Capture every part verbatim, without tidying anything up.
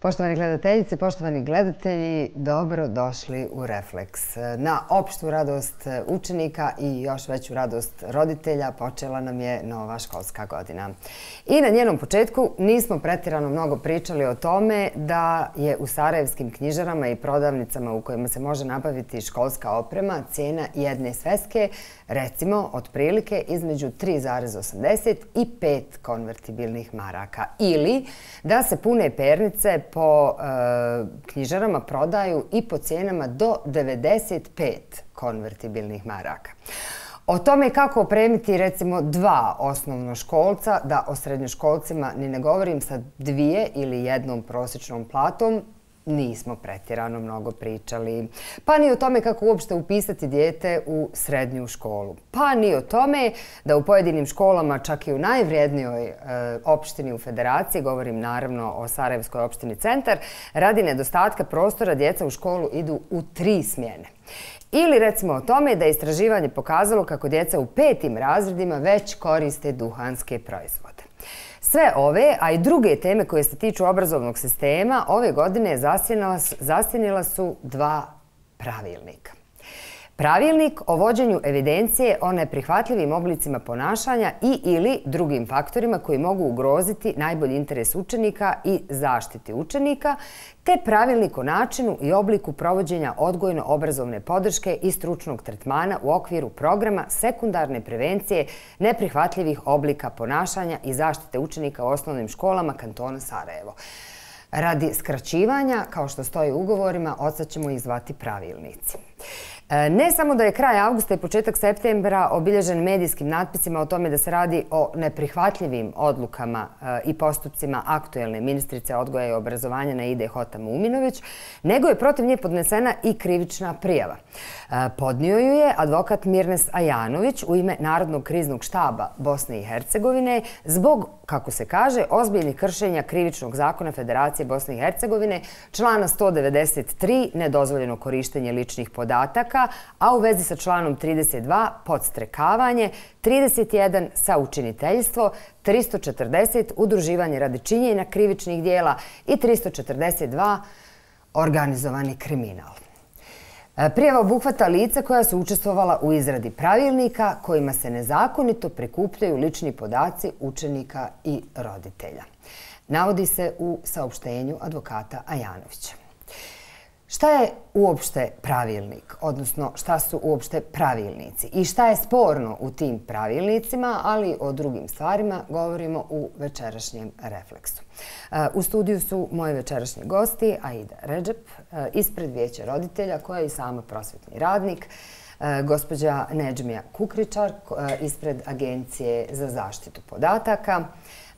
Poštovani gledateljice, poštovani gledatelji, dobro došli u Refleks. Na opštu radost učenika i još veću radost roditelja počela nam je nova školska godina. I na njenom početku nismo pretjerano mnogo pričali o tome da je u sarajevskim knjižarama i prodavnicama u kojima se može nabaviti školska oprema cijena jedne sveske, recimo, otprilike između tri zarez osamdeset i pet konvertibilnih maraka. Ili da se pune pernice po e, knjižarama prodaju i po cijenama do devedeset pet konvertibilnih maraka. O tome kako opremiti recimo dva osnovnoškolca, da o srednjoškolcima ni ne govorim sa dvije ili jednom prosječnom platom, nismo pretjerano mnogo pričali. Pa ni o tome kako uopšte upisati dijete u srednju školu. Pa ni o tome da u pojedinim školama, čak i u najvrijednijoj e, opštini u Federaciji, govorim naravno o Sarajevskoj opštini Centar, radi nedostatka prostora djeca u školu idu u tri smjene. Ili recimo o tome da je istraživanje pokazalo kako djeca u petim razredima već koriste duhanske proizvode. Sve ove, a i druge teme koje se tiču obrazovnog sistema, ove godine zasjenila su dva pravilnika. Pravilnik o vođenju evidencije o neprihvatljivim oblicima ponašanja i ili drugim faktorima koji mogu ugroziti najbolji interes učenika i zaštiti učenika, te pravilnik o načinu i obliku provođenja odgojno-obrazovne podrške i stručnog tretmana u okviru programa sekundarne prevencije neprihvatljivih oblika ponašanja i zaštite učenika u osnovnim školama kantona Sarajevo. Radi skraćivanja, kao što stoji u ugovorima, odsad ćemo ih zvati pravilnici. Ne samo da je kraj avgusta i početak septembra obilježen medijskim natpisima o tome da se radi o neprihvatljivim odlukama i postupcima aktuelne ministrice odgoja i obrazovanja Naide Hota-Muminović, nego je protiv nje podnesena i krivična prijava. Podnio ju je advokat Mirnes Ajanović u ime Narodnog kriznog štaba Bosne i Hercegovine zbog, kako se kaže, ozbiljnih kršenja krivičnog zakona Federacije Bosne i Hercegovine, člana sto devedeset tri, nedozvoljeno korištenje ličnih podataka, a u vezi sa članom trideset dva podstrekavanje, trideset jedan saučiniteljstvo, tristo četrdeset udruživanje radi činjenja krivičnih dijela i tristo četrdeset dva organizovani kriminal. Prijava obuhvata lica koja su učestvovala u izradi pravilnika kojima se nezakonito prikupljaju lični podaci učenika i roditelja. Navodi se u saopštenju advokata Ajanovića. Šta je uopšte pravilnik, odnosno šta su uopšte pravilnici i šta je sporno u tim pravilnicima, ali o drugim stvarima govorimo u večerašnjem Refleksu. U studiju su moji večerašnji gosti, Aida Redžep, ispred Vijeća roditelja, koja je i sama prosvetni radnik, gospođa Nedžmija Kukričar, ispred Agencije za zaštitu podataka,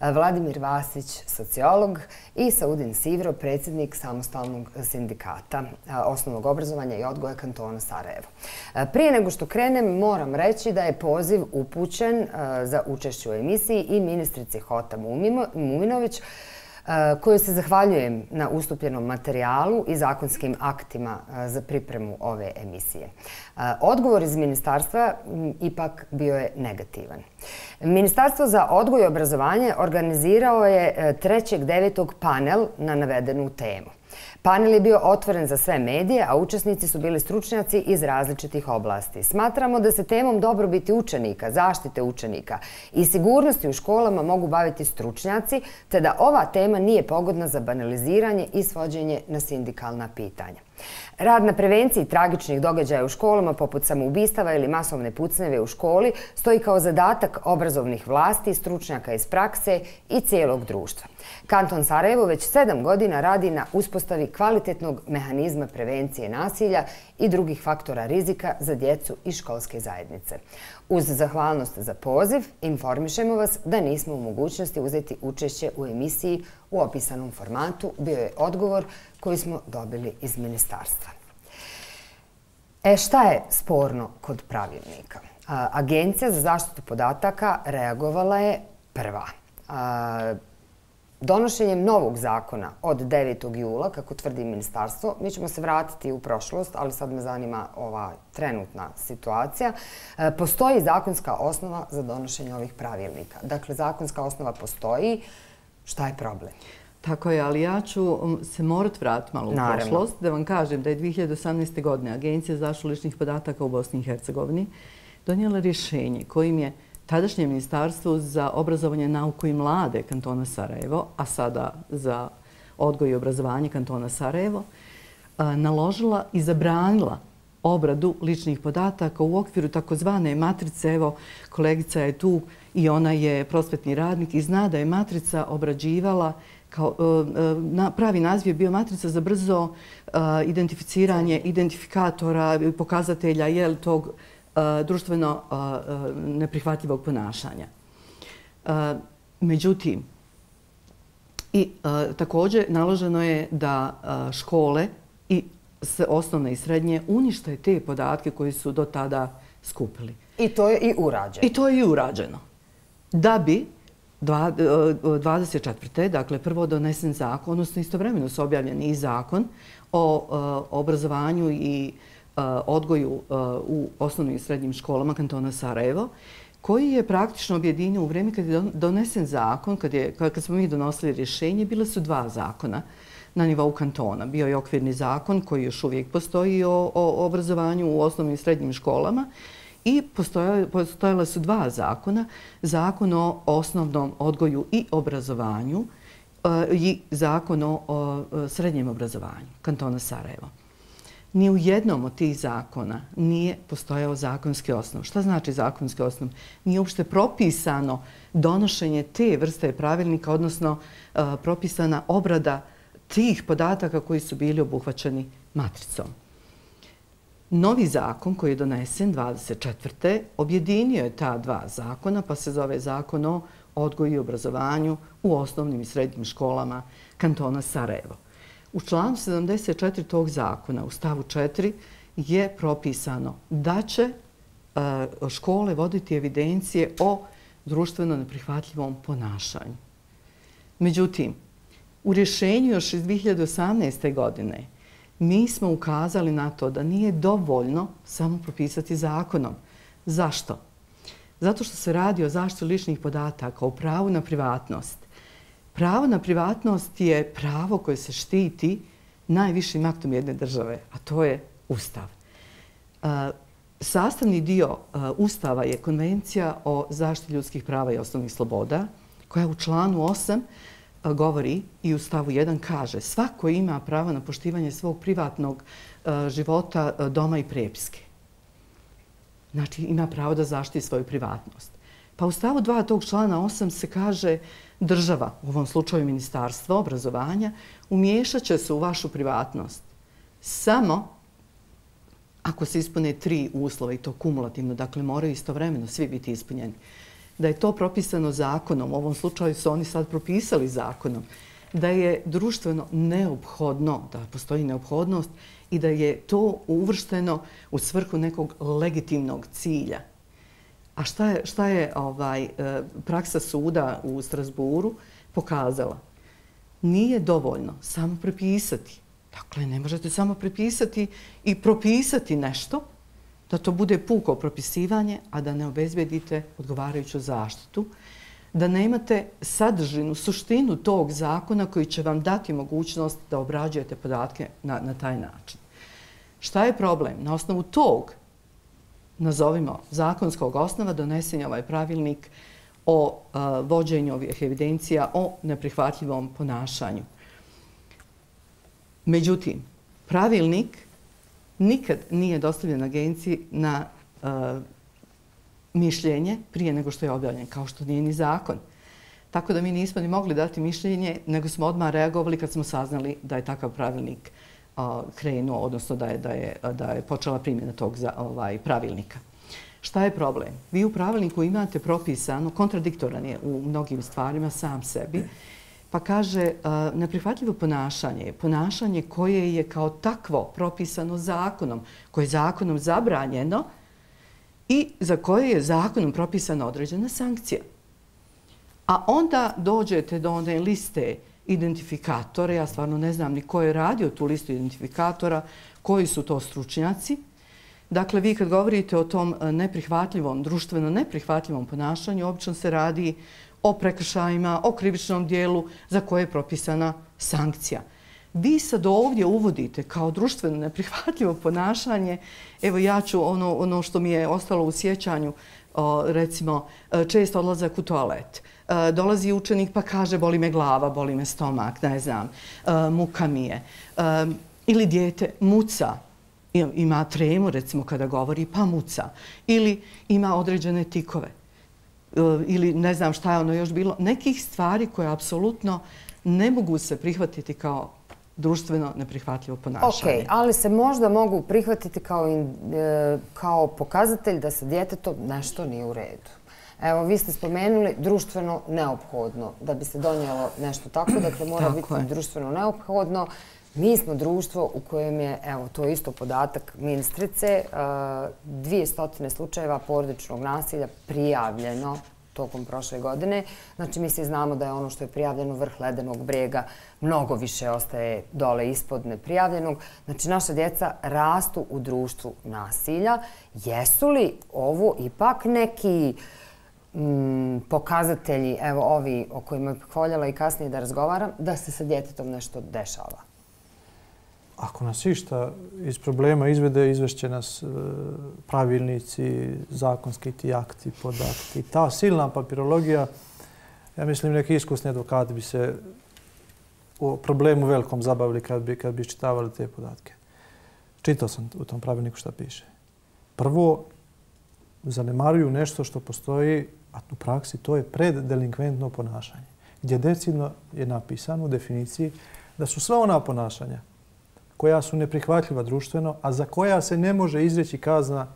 Vladimir Vasić, sociolog, i Saudin Sivro, predsjednik samostalnog sindikata osnovnog obrazovanja i odgoja kantona Sarajevo. Prije nego što krenem, moram reći da je poziv upućen za učešće u emisiji i ministrici Hota-Muminović, kojoj se zahvaljujem na ustupljenom materijalu i zakonskim aktima za pripremu ove emisije. Odgovor iz ministarstva ipak bio je negativan. Ministarstvo za odgoj i obrazovanje organizirao je trećeg devetog panel na navedenu temu. Panel je bio otvoren za sve medije, a učesnici su bili stručnjaci iz različitih oblasti. Smatramo da se temom dobrobiti učenika, zaštite učenika i sigurnosti u školama mogu baviti stručnjaci, te da ova tema nije pogodna za banaliziranje i svođenje na sindikalna pitanja. Rad na prevenciji tragičnih događaja u školama poput samoubistava ili masovne pucnjeve u školi stoji kao zadatak obrazovnih vlasti, stručnjaka iz prakse i cijelog društva. Kanton Sarajevo već sedam godina radi na uspostavi kvalitetnog mehanizma prevencije nasilja i drugih faktora rizika za djecu i školske zajednice. Uz zahvalnost za poziv, informišemo vas da nismo u mogućnosti uzeti učešće u emisiji u opisanom formatu, bio je odgovor koji smo dobili iz ministarstva. E, šta je sporno kod pravilnika? Agencija za zaštitu podataka reagovala je prva. Donošenjem novog zakona od devetog jula, kako tvrdi ministarstvo, mi ćemo se vratiti u prošlost, ali sad me zanima ova trenutna situacija, postoji zakonska osnova za donošenje ovih pravilnika. Dakle, zakonska osnova postoji. Šta je problem? Tako je, ali ja ću se morat vratiti malo u prošlost da vam kažem da je dvije hiljade osamnaeste. godine Agencija za zaštitu ličnih podataka u Bosni i Hercegovini donijela rješenje kojim je tadašnje Ministarstvo za obrazovanje, nauku i mlade kantona Sarajevo, a sada za odgoj i obrazovanje kantona Sarajevo, naložila i zabranila obradu ličnih podataka u okviru takozvane matrice. Evo, kolegica je tu i ona je prosvetni radnik i zna da je matrica obrađivala, kao, na, pravi naziv je bio matrica za brzo identificiranje identifikatora i pokazatelja jel, tog društveno neprihvatljivog ponašanja. Međutim, i također naloženo je da škole i osnovne i srednje unište te podatke koji su do tada skupili. I to je i urađeno. I to je i urađeno. Da bi dvadeset četvrte. dakle prvo donesen zakon, odnosno istovremeno su objavljeni i zakon o obrazovanju i odgoju u osnovnim i srednjim školama kantona Sarajevo, koji je praktično objedinio u vrijeme kad je donesen zakon, kad, je, kad smo mi donosili rješenje, bile su dva zakona na nivou kantona. Bio je okvirni zakon koji još uvijek postoji o, o obrazovanju u osnovnim i srednjim školama i postojala su dva zakona. Zakon o osnovnom odgoju i obrazovanju i zakon o, o srednjem obrazovanju kantona Sarajevo. Ni u jednom od tih zakona nije postojao zakonski osnov. Šta znači zakonski osnov? Nije uopšte propisano donošenje te vrste pravilnika, odnosno uh, propisana obrada tih podataka koji su bili obuhvaćeni matricom. Novi zakon koji je donesen dvadeset četvrte. objedinio je ta dva zakona, pa se zove Zakon o odgoju i obrazovanju u osnovnim i srednjim školama kantona Sarajevo. U članu sedamdeset četiri tog zakona, u stavu četiri, je propisano da će škole voditi evidencije o društveno neprihvatljivom ponašanju. Međutim, u rješenju još iz dvije hiljade osamnaeste. godine mi smo ukazali na to da nije dovoljno samo propisati zakonom. Zašto? Zato što se radi o zaštiti ličnih podataka, o pravu na privatnost. Pravo na privatnost je pravo koje se štiti najvišim aktom jedne države, a to je Ustav. Sastavni dio Ustava je Konvencija o zaštiti ljudskih prava i osnovnih sloboda, koja u članu osam govori i u stavu jedan kaže: svako ima pravo na poštivanje svog privatnog života, doma i prepiske. Znači, ima pravo da zaštiti svoju privatnost. Pa u stavu dva tog člana osam se kaže: država, u ovom slučaju Ministarstvo obrazovanja, umiješat će se u vašu privatnost samo ako se ispune tri uslova, i to kumulativno, dakle moraju istovremeno svi biti ispunjeni. Da je to propisano zakonom, u ovom slučaju su oni sad propisali zakonom, da je društveno neophodno, da postoji neophodnost i da je to uvršteno u svrhu nekog legitimnog cilja. A šta je, šta je ovaj, praksa suda u Strasburu pokazala? Nije dovoljno samo prepisati. Dakle, ne možete samo prepisati i propisati nešto, da to bude puko propisivanje, a da ne obezbedite odgovarajuću zaštitu, da nemate sadržinu, suštinu tog zakona koji će vam dati mogućnost da obrađujete podatke na, na taj način. Šta je problem? Na osnovu tog, nazovimo, zakonskog osnova donesen je ovaj pravilnik o a, vođenju ovih evidencija o neprihvatljivom ponašanju. Međutim, pravilnik nikad nije dostavljen agenciji na a, mišljenje prije nego što je objavljen, kao što nije ni zakon. Tako da mi nismo ni mogli dati mišljenje, nego smo odmah reagovali kad smo saznali da je takav pravilnik a, krenuo, odnosno da je, da je, da je počela primjena tog za, ovaj, pravilnika. Šta je problem? Vi u pravilniku imate propisano, kontradiktoran je u mnogim stvarima sam sebi, pa kaže a, neprihvatljivo ponašanje je ponašanje koje je kao takvo propisano zakonom, koje je zakonom zabranjeno i za koje je zakonom propisana određena sankcija. A onda dođete do one liste identifikatora, ja stvarno ne znam ni ko je radio tu listu identifikatora, koji su to stručnjaci. Dakle, vi kad govorite o tom neprihvatljivom, društveno neprihvatljivom ponašanju, obično se radi o prekršajima, o krivičnom dijelu za koje je propisana sankcija. Vi sad ovdje uvodite kao društveno neprihvatljivo ponašanje. Evo ja ću ono, ono što mi je ostalo u sjećanju, o, recimo čest odlazak u toalet. E, dolazi učenik pa kaže boli me glava, boli me stomak, ne znam, e, muka mi je. E, ili dijete muca, ima tremu recimo kada govori pa muca. Ili ima određene tikove. E, ili ne znam šta je ono još bilo. Nekih stvari koje apsolutno ne mogu se prihvatiti kao društveno neprihvatljivo ponašanje. Ok, ali se možda mogu prihvatiti kao, in, e, kao pokazatelj da sa djetetom nešto nije u redu. Evo, vi ste spomenuli društveno neophodno. Da bi se donijelo nešto tako, dakle mora tako biti je. društveno neophodno. Mi smo društvo u kojem je, evo, to je isto podatak ministrice, dvije stotine slučajeva porodičnog nasilja prijavljeno tokom prošle godine. Znači, mi se znamo da je ono što je prijavljeno vrh ledenog brega mnogo više ostaje dole ispod neprijavljenog. Znači, naša djeca rastu u društvu nasilja. Jesu li ovo ipak neki mm, pokazatelji, evo ovi o kojima bih voljela i kasnije da razgovaram, da se sa djetetom nešto dešava? Ako nas išta iz problema izvede, izvešće nas pravilnici, zakonski ti akti, podakti. Ta silna papirologija, ja mislim neki iskusni advokati bi se o problemu velikom zabavili kad bi, kad bi čitavali te podatke. Čitao sam u tom pravilniku šta piše. Prvo, zanemaruju nešto što postoji, a u praksi to je preddelinkventno ponašanje, gdje decidno je napisano u definiciji da su sva ona ponašanja koja su neprihvatljiva društveno, a za koja se ne može izreći kazna,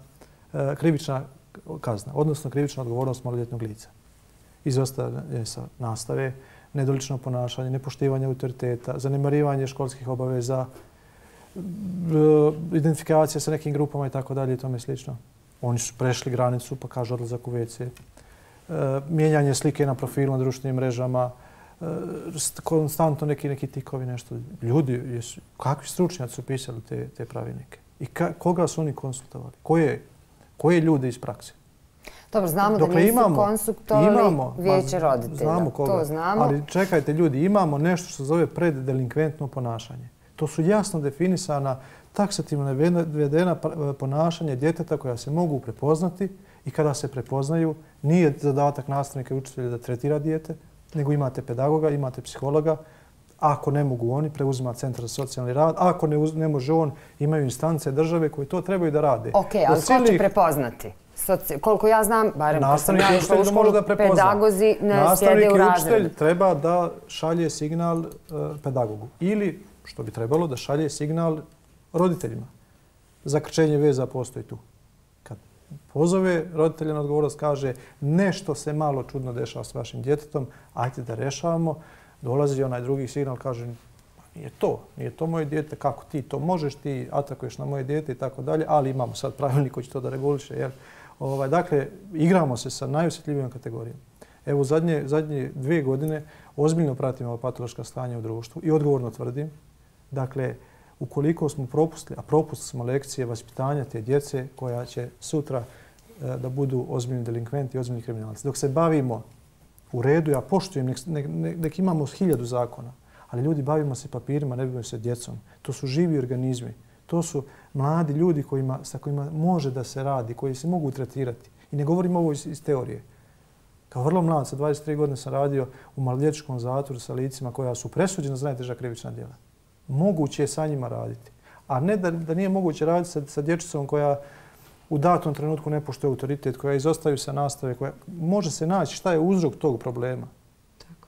krivična kazna, odnosno krivična odgovornost maloljetnog lica. Izostavljanje sa nastave, nedolično ponašanje, nepoštivanje autoriteta, zanemarivanje školskih obaveza, identifikacija sa nekim grupama i tako dalje i tome slično. Oni su prešli granicu pa kažu odlazak u ve ce. Mijenjanje slike na profilu na društvenim mrežama, konstantno neki, neki tikovi, nešto. Ljudi, jesu, kakvi stručnjaci su pisali te, te pravilnike? I ka, koga su oni konsultovali? Koje, koje ljude iz prakse? Dobro, znamo Dokle da nisu imamo, konsultovali imamo, vijeće roditelja. Znamo koga. To znamo. Ali čekajte ljudi, imamo nešto što se zove preddelinkventno ponašanje. To su jasno definisana, taksativno navedena ponašanja djeteta koja se mogu prepoznati i kada se prepoznaju, nije zadatak nastavnika i učitelja da tretira dijete, nego imate pedagoga, imate psihologa. Ako ne mogu oni, preuzima Centar za socijalni rad. Ako ne, uz, ne može on, imaju instance države koje to trebaju da rade. Ok, ali ko će prepoznati? Soci... Koliko ja znam, barem nastavnik i učitelj da može da prepozna. Pedagozi ne sjede u razredu. Nastavnik i učitelj treba da šalje signal uh, pedagogu. Ili, što bi trebalo, da šalje signal roditeljima. Zakrčenje veza postoji tu. Kad pozove roditelja na odgovornost, kaže nešto se malo čudno dešava s vašim djetetom, ajde da rešavamo. Dolazi onaj drugi signal, kaže nije to, nije to moje dijete, kako ti to možeš, ti atakuješ na moje dijete i tako dalje, ali imamo sad pravilnik koji će to da reguliše. Jer, ovaj, dakle, igramo se sa najosjetljivijom kategorijom. Evo, zadnje, zadnje dvije godine ozbiljno pratimo patološka stanja u društvu i odgovorno tvrdim, dakle, ukoliko smo propustili, a propustili smo lekcije vaspitanja te djece koja će sutra e, da budu ozbiljni delinkventi i ozbiljni kriminalci. Dok se bavimo u redu, ja poštujem, nek, nek, nek imamo hiljadu zakona, ali ljudi bavimo se papirima, ne bavimo se djecom. To su živi organizmi. To su mladi ljudi kojima, sa kojima može da se radi, koji se mogu tretirati. I ne govorim ovo iz, iz teorije. Kao vrlo mlad, sa dvadeset tri godine sam radio u maloljetničkom zatvoru sa licima koja su presuđena za najteža krivična djela. Moguće je sa njima raditi. A ne da, da nije moguće raditi sa, sa dječicom koja u datom trenutku ne poštuje autoritet, koja izostaju sa nastave, koja može se naći šta je uzrok tog problema.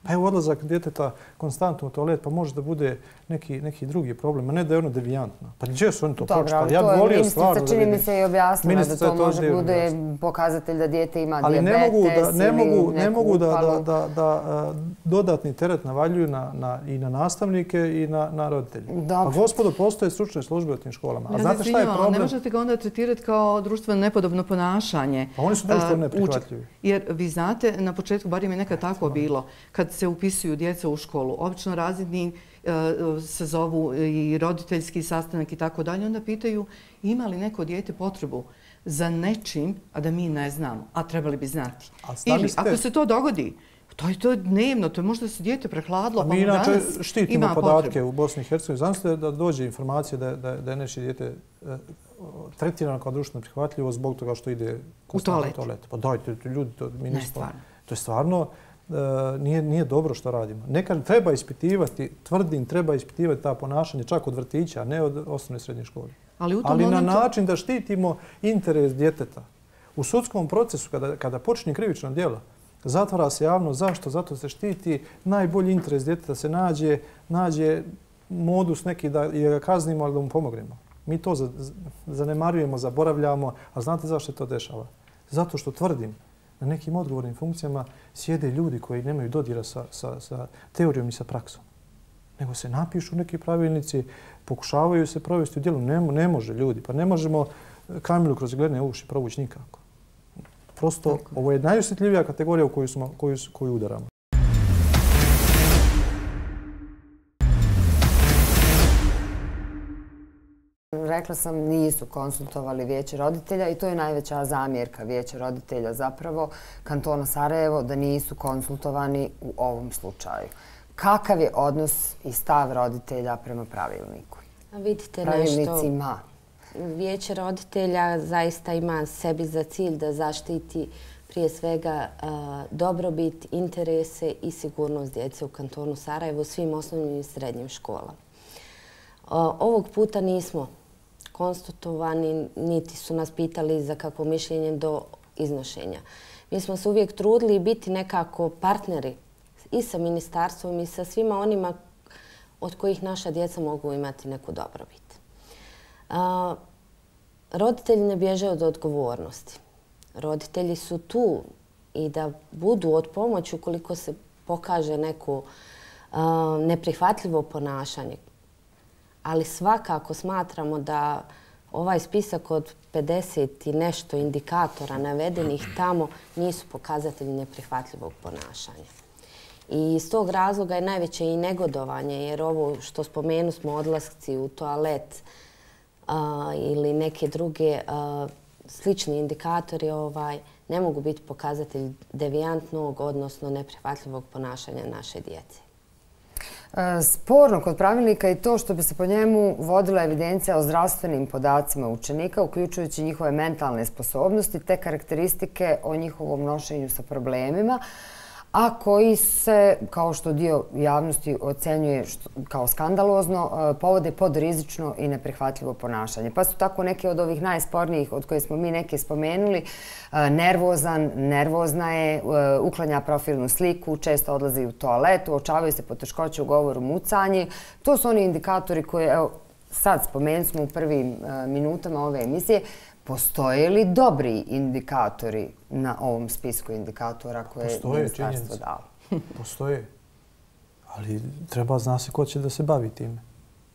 Pa evo odlazak djeteta konstantno u toalet, pa može da bude neki, neki drugi problem, a ne da je ono devijantno. Pa gdje su oni to pročitali? Ja bih volio stvarno da vidim. Čini mi se i objasnila da to može bude pokazatelj da dijete ima ali dijabetes ne mogu da, ne mogu, ili ne mogu da, da, da, da dodatni teret navaljuju na, na, i na nastavnike i na, na roditelje. Dobro. Pa gospodo, postoje stručne službe u tim školama. A znate šta je problem? Ne možete ga onda tretirati kao društveno nepodobno ponašanje. Pa oni su društveno neprihvatljivi. Jer vi znate, na početku, bar im je nekad tako bilo, kad se upisuju djeca u školu, obično razredni se zovu i roditeljski sastanak i tako dalje, onda pitaju ima li neko dijete potrebu za nečim, a da mi ne znamo, a trebali bi znati. Ili ako se to dogodi, To je to dnevno, to je možda se dijete prehladilo. A mi inače štitimo podatke u Bosni i Hercegovini. Zamislite da dođe informacija da, da, da je nečije dijete e, tretirano kao društveno prihvatljivo zbog toga što ide u toalet. toalet. Pa dajte, ljudi, to, mi ne, nismo, stvarno. To je stvarno e, nije, nije dobro što radimo. Nekad treba ispitivati, tvrdim, treba ispitivati ta ponašanja čak od vrtića, a ne od osnovne i srednje škole. Ali, u tom Ali momentu... na način da štitimo interes djeteta. U sudskom procesu, kada, kada počne krivično djelo, zatvara se javno. Zašto? Zato se štiti najbolji interes djeteta, se nađe, nađe modus neki da ga kaznimo, ali da mu pomognemo. Mi to zanemarujemo, zaboravljamo, a znate zašto se to dešava? Zato što tvrdim, na nekim odgovornim funkcijama sjede ljudi koji nemaju dodira sa, sa, sa teorijom i sa praksom. Nego se napišu neki pravilnici, pokušavaju se provesti u djelu. Ne, ne može ljudi, pa ne možemo Kamilu kroz gledne uši provući nikako. Prosto, tako, ovo je najosjetljivija kategorija u koju, smo, koju, koju udaramo. Rekla sam, nisu konsultovali Vijeće roditelja i to je najveća zamjerka Vijeća roditelja zapravo kantona Sarajevo, da nisu konsultovani u ovom slučaju. Kakav je odnos i stav roditelja prema pravilniku? A vidite Pravilnicima. Nešto. Vijeće roditelja zaista ima sebi za cilj da zaštiti prije svega dobrobit, interese i sigurnost djece u kantonu Sarajevo, svim osnovnim i srednjim školama. Ovog puta nismo konsultovani, niti su nas pitali za kakvo mišljenje do iznošenja. Mi smo se uvijek trudili biti nekako partneri i sa ministarstvom i sa svima onima od kojih naša djeca mogu imati neku dobrobit. A, roditelji ne bježe od odgovornosti. Roditelji su tu i da budu od pomoći ukoliko se pokaže neko a, neprihvatljivo ponašanje. Ali svakako smatramo da ovaj spisak od pedeset i nešto indikatora navedenih tamo nisu pokazatelji neprihvatljivog ponašanja. I iz tog razloga je najveće i negodovanje, jer ovo što spomenu smo odlasci u toalet a, ili neke druge a, slični indikatori ovaj, ne mogu biti pokazatelj devijantnog, odnosno neprihvatljivog ponašanja naše djece. Sporno kod pravilnika je to što bi se po njemu vodila evidencija o zdravstvenim podacima učenika, uključujući njihove mentalne sposobnosti te karakteristike o njihovom nošenju sa problemima, a koji se, kao što dio javnosti ocenjuje kao skandalozno, povode pod rizično i neprihvatljivo ponašanje. Pa su tako neke od ovih najspornijih, od koje smo mi neke spomenuli, nervozan, nervozna je, uklanja profilnu sliku, često odlazi u toalet, uočavaju se poteškoće u govoru, mucanje. To su oni indikatori koje, evo, sad spomenuli smo u prvim minutama ove emisije. Postoje li dobri indikatori na ovom spisku indikatora koje je ministarstvo dalo? Postoje. Ali treba zna se ko će da se bavi time.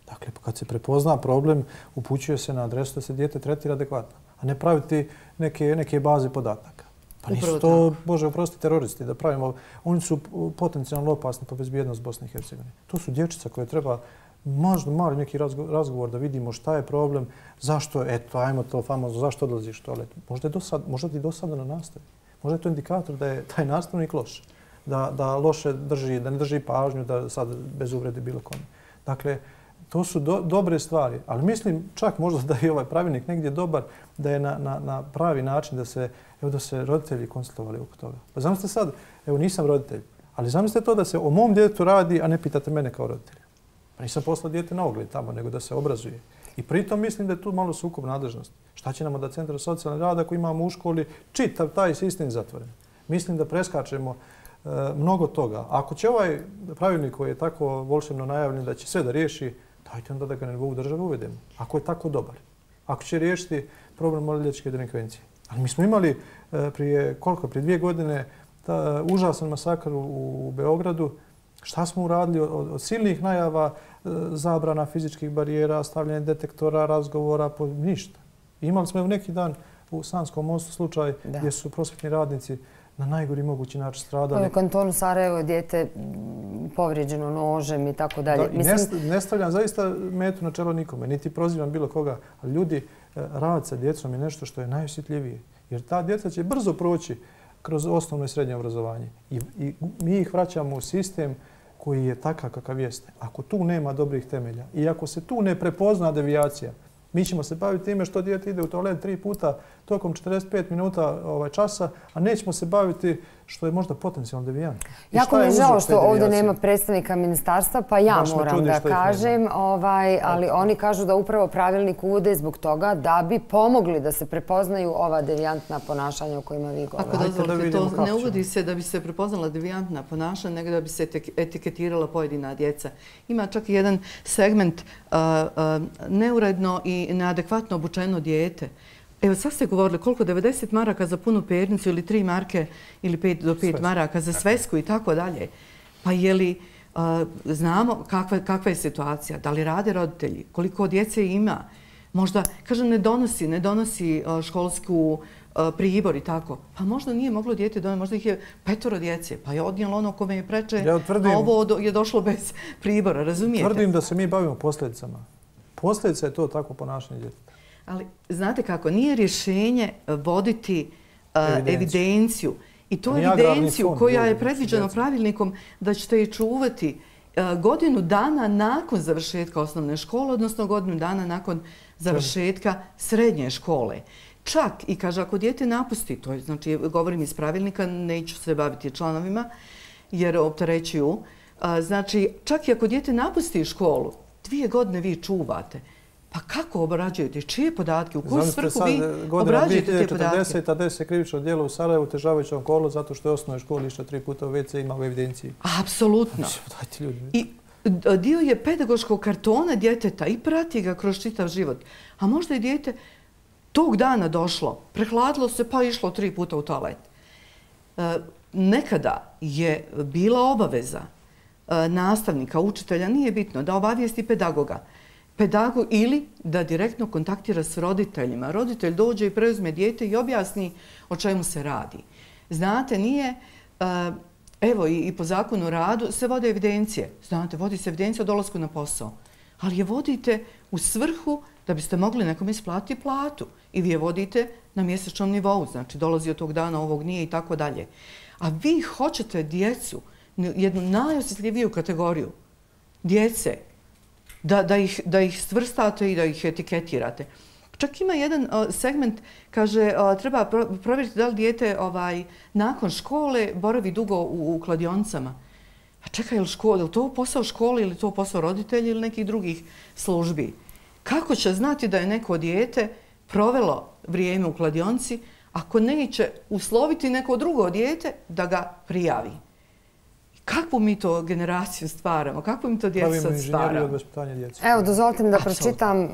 Dakle, kad se prepozna problem, upućuje se na adresu da se dijete tretira adekvatno, a ne praviti neke, neke baze podataka. Pa nisu to, Bože, oprosti, teroristi da pravimo. Oni su potencijalno opasni po bezbjednost Bosne i Hercegovine. To su dječica koje treba možda mali neki razgovor da vidimo šta je problem, zašto, eto, ajmo to famozno, zašto odlaziš u toalet. Možda je dosad, možda ti dosadno na nastavi. Možda je to indikator da je taj nastavnik loš, da, da loše drži, da ne drži pažnju, da sad bez uvrede bilo kome. Dakle, to su do, dobre stvari, ali mislim čak možda da je ovaj pravilnik negdje dobar, da je na, na, na pravi način da se, evo, da se roditelji konsultovali oko toga. Pa zamislite sad, evo nisam roditelj, ali zamislite to da se o mom djetetu radi, a ne pitate mene kao roditelja. Pa nisam poslao dijete na ogled tamo, nego da se obrazuje. I pritom mislim da je tu malo sukob nadležnosti. Šta će nam da Centar socijalnog rada ako imamo u školi čitav taj sistem zatvoren? Mislim da preskačemo e, mnogo toga. Ako će ovaj pravilnik koji je tako volšebno najavljen da će sve da riješi, dajte onda da ga na nivou države uvedemo. Ako je tako dobar. Ako će riješiti problem maloljetničke delikvencije. Ali mi smo imali e, prije koliko, prije dvije godine ta, užasan masakr u, u Beogradu. Šta smo uradili od, od silnih najava, zabrana fizičkih barijera, stavljanje detektora, razgovora, po, ništa. I imali smo neki dan u Sanskom mostu slučaj da. Gdje su prosvjetni radnici na najgori mogući način stradali. U kantonu Sarajevo je dijete povrijeđeno nožem i tako dalje. Da, Mislim... Ne, ne stavljam zaista metu na čelo nikome, niti prozivam bilo koga, ali ljudi, rad sa djecom je nešto što je najosjetljivije. Jer ta djeca će brzo proći kroz osnovno i srednje obrazovanje. I, i mi ih vraćamo u sistem koji je takav kakav jeste. Ako tu nema dobrih temelja i ako se tu ne prepozna devijacija, mi ćemo se baviti time što dijete ide u toalet tri puta tokom četrdeset pet minuta ovaj, časa, a nećemo se baviti što je možda potencijalno devijant. Jako mi je žao što ovdje nema predstavnika ministarstva, pa ja moram da kažem, ovaj, ali oni kažu da upravo pravilnik uvode zbog toga da bi pomogli da se prepoznaju ova devijantna ponašanja o kojima vi govorite. Ako dozvolite, to ne uvodi se da bi se prepoznala devijantna ponašanja, nego da bi se etiketirala pojedina djeca. Ima čak i jedan segment uh, uh, neuredno i neadekvatno obučeno dijete. Evo, sad ste govorili koliko devedeset maraka za punu pernicu ili tri marke ili pet do pet maraka za svesku i tako dalje. Pa je li uh, znamo kakva, kakva je situacija? Da li rade roditelji? Koliko djece ima? Možda, kažem, ne donosi, ne donosi uh, školsku uh, pribor i tako. Pa možda nije moglo dijete doneti, možda ih je petoro djece. Pa je odnijelo ono kome je preče, ja tvrdim, a ovo do, je došlo bez pribora, razumijete? Tvrdim da se mi bavimo posljedicama. Posljedica je to tako ponašanje djeteta. Ali znate kako, nije rješenje voditi uh, evidenciju. evidenciju. I to evidenciju koja je predviđena pravilnikom da ćete je čuvati uh, godinu dana nakon završetka osnovne škole, odnosno godinu dana nakon završetka srednje škole. Čak i kaže, ako dijete napusti, to je, znači govorim iz pravilnika, neću se baviti članovima jer opterećuju, uh, znači čak i ako dijete napusti školu, dvije godine vi čuvate. Pa kako obrađujete? Čije podatke? U koju svrhu vi obrađujete te podatke? dvije hiljade četrdeset desi se krivično djelo u Sarajevu otežavajućom okolnosti zato što je osnovnoj školi išla tri puta u ve ce ima u evidenciji. Apsolutno. I dio je pedagoškog kartona djeteta i prati ga kroz čitav život. A možda je dijete tog dana došlo, prehladilo se pa išlo tri puta u toalet. Nekada je bila obaveza nastavnika, učitelja, nije bitno, da obavijesti pedagoga. Pedagog ili da direktno kontaktira s roditeljima. Roditelj dođe i preuzme dijete i objasni o čemu se radi. Znate, nije, evo i po zakonu o radu se vode evidencije. Znate, vodi se evidencija o dolasku na posao. Ali je vodite u svrhu da biste mogli nekom isplatiti platu. I vi je vodite na mjesečnom nivou. Znači, dolazi od tog dana, ovog nije i tako dalje. A vi hoćete djecu, jednu najosjetljiviju kategoriju djece, Da, da, ih, da ih svrstate i da ih etiketirate. Čak ima jedan uh, segment, kaže, uh, treba pro, provjeriti da li dijete ovaj, nakon škole boravi dugo u, u kladionicama. A čekaj, je li, škola, je li to posao škole ili to posao roditelja ili nekih drugih službi? Kako će znati da je neko dijete provelo vrijeme u kladionici ako neće usloviti neko drugo dijete da ga prijavi? Kakvu mi to generaciju stvaramo? Kakvu mi to djecu sad stvaramo? Pravimo inženjeriju od vaspitanja djece. Evo, dozvolite mi da pročitam uh,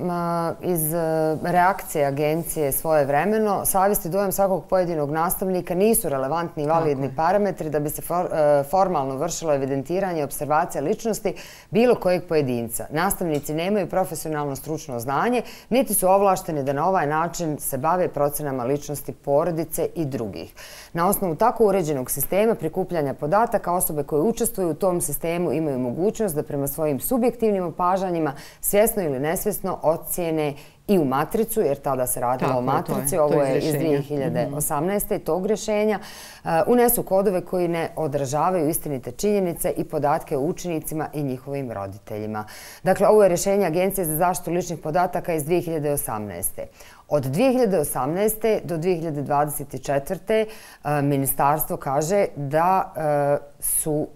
iz uh, reakcije agencije svoje vremeno. Savjest i dojam svakog pojedinog nastavnika nisu relevantni i validni Tako parametri da bi se for, uh, formalno vršilo evidentiranje i observacija ličnosti bilo kojeg pojedinca. Nastavnici nemaju profesionalno stručno znanje, niti su ovlašteni da na ovaj način se bave procenama ličnosti porodice i drugih. Na osnovu tako uređenog sistema prikupljanja podataka, osobe koje učestvuju u tom sistemu imaju mogućnost da prema svojim subjektivnim opažanjima svjesno ili nesvjesno ocijene i u matricu, jer tada se radilo Tako, o matrici, je, ovo je, je iz dvije hiljade osamnaeste. Mm-hmm. tog rješenja, uh, unesu kodove koji ne odražavaju istinite činjenice i podatke o učenicima i njihovim roditeljima. Dakle, ovo je rješenje Agencije za zaštitu ličnih podataka iz dvije hiljade osamnaeste. Od dvije hiljade osamnaeste do dvije hiljade dvadeset četvrte. Uh, ministarstvo kaže da uh, su uh,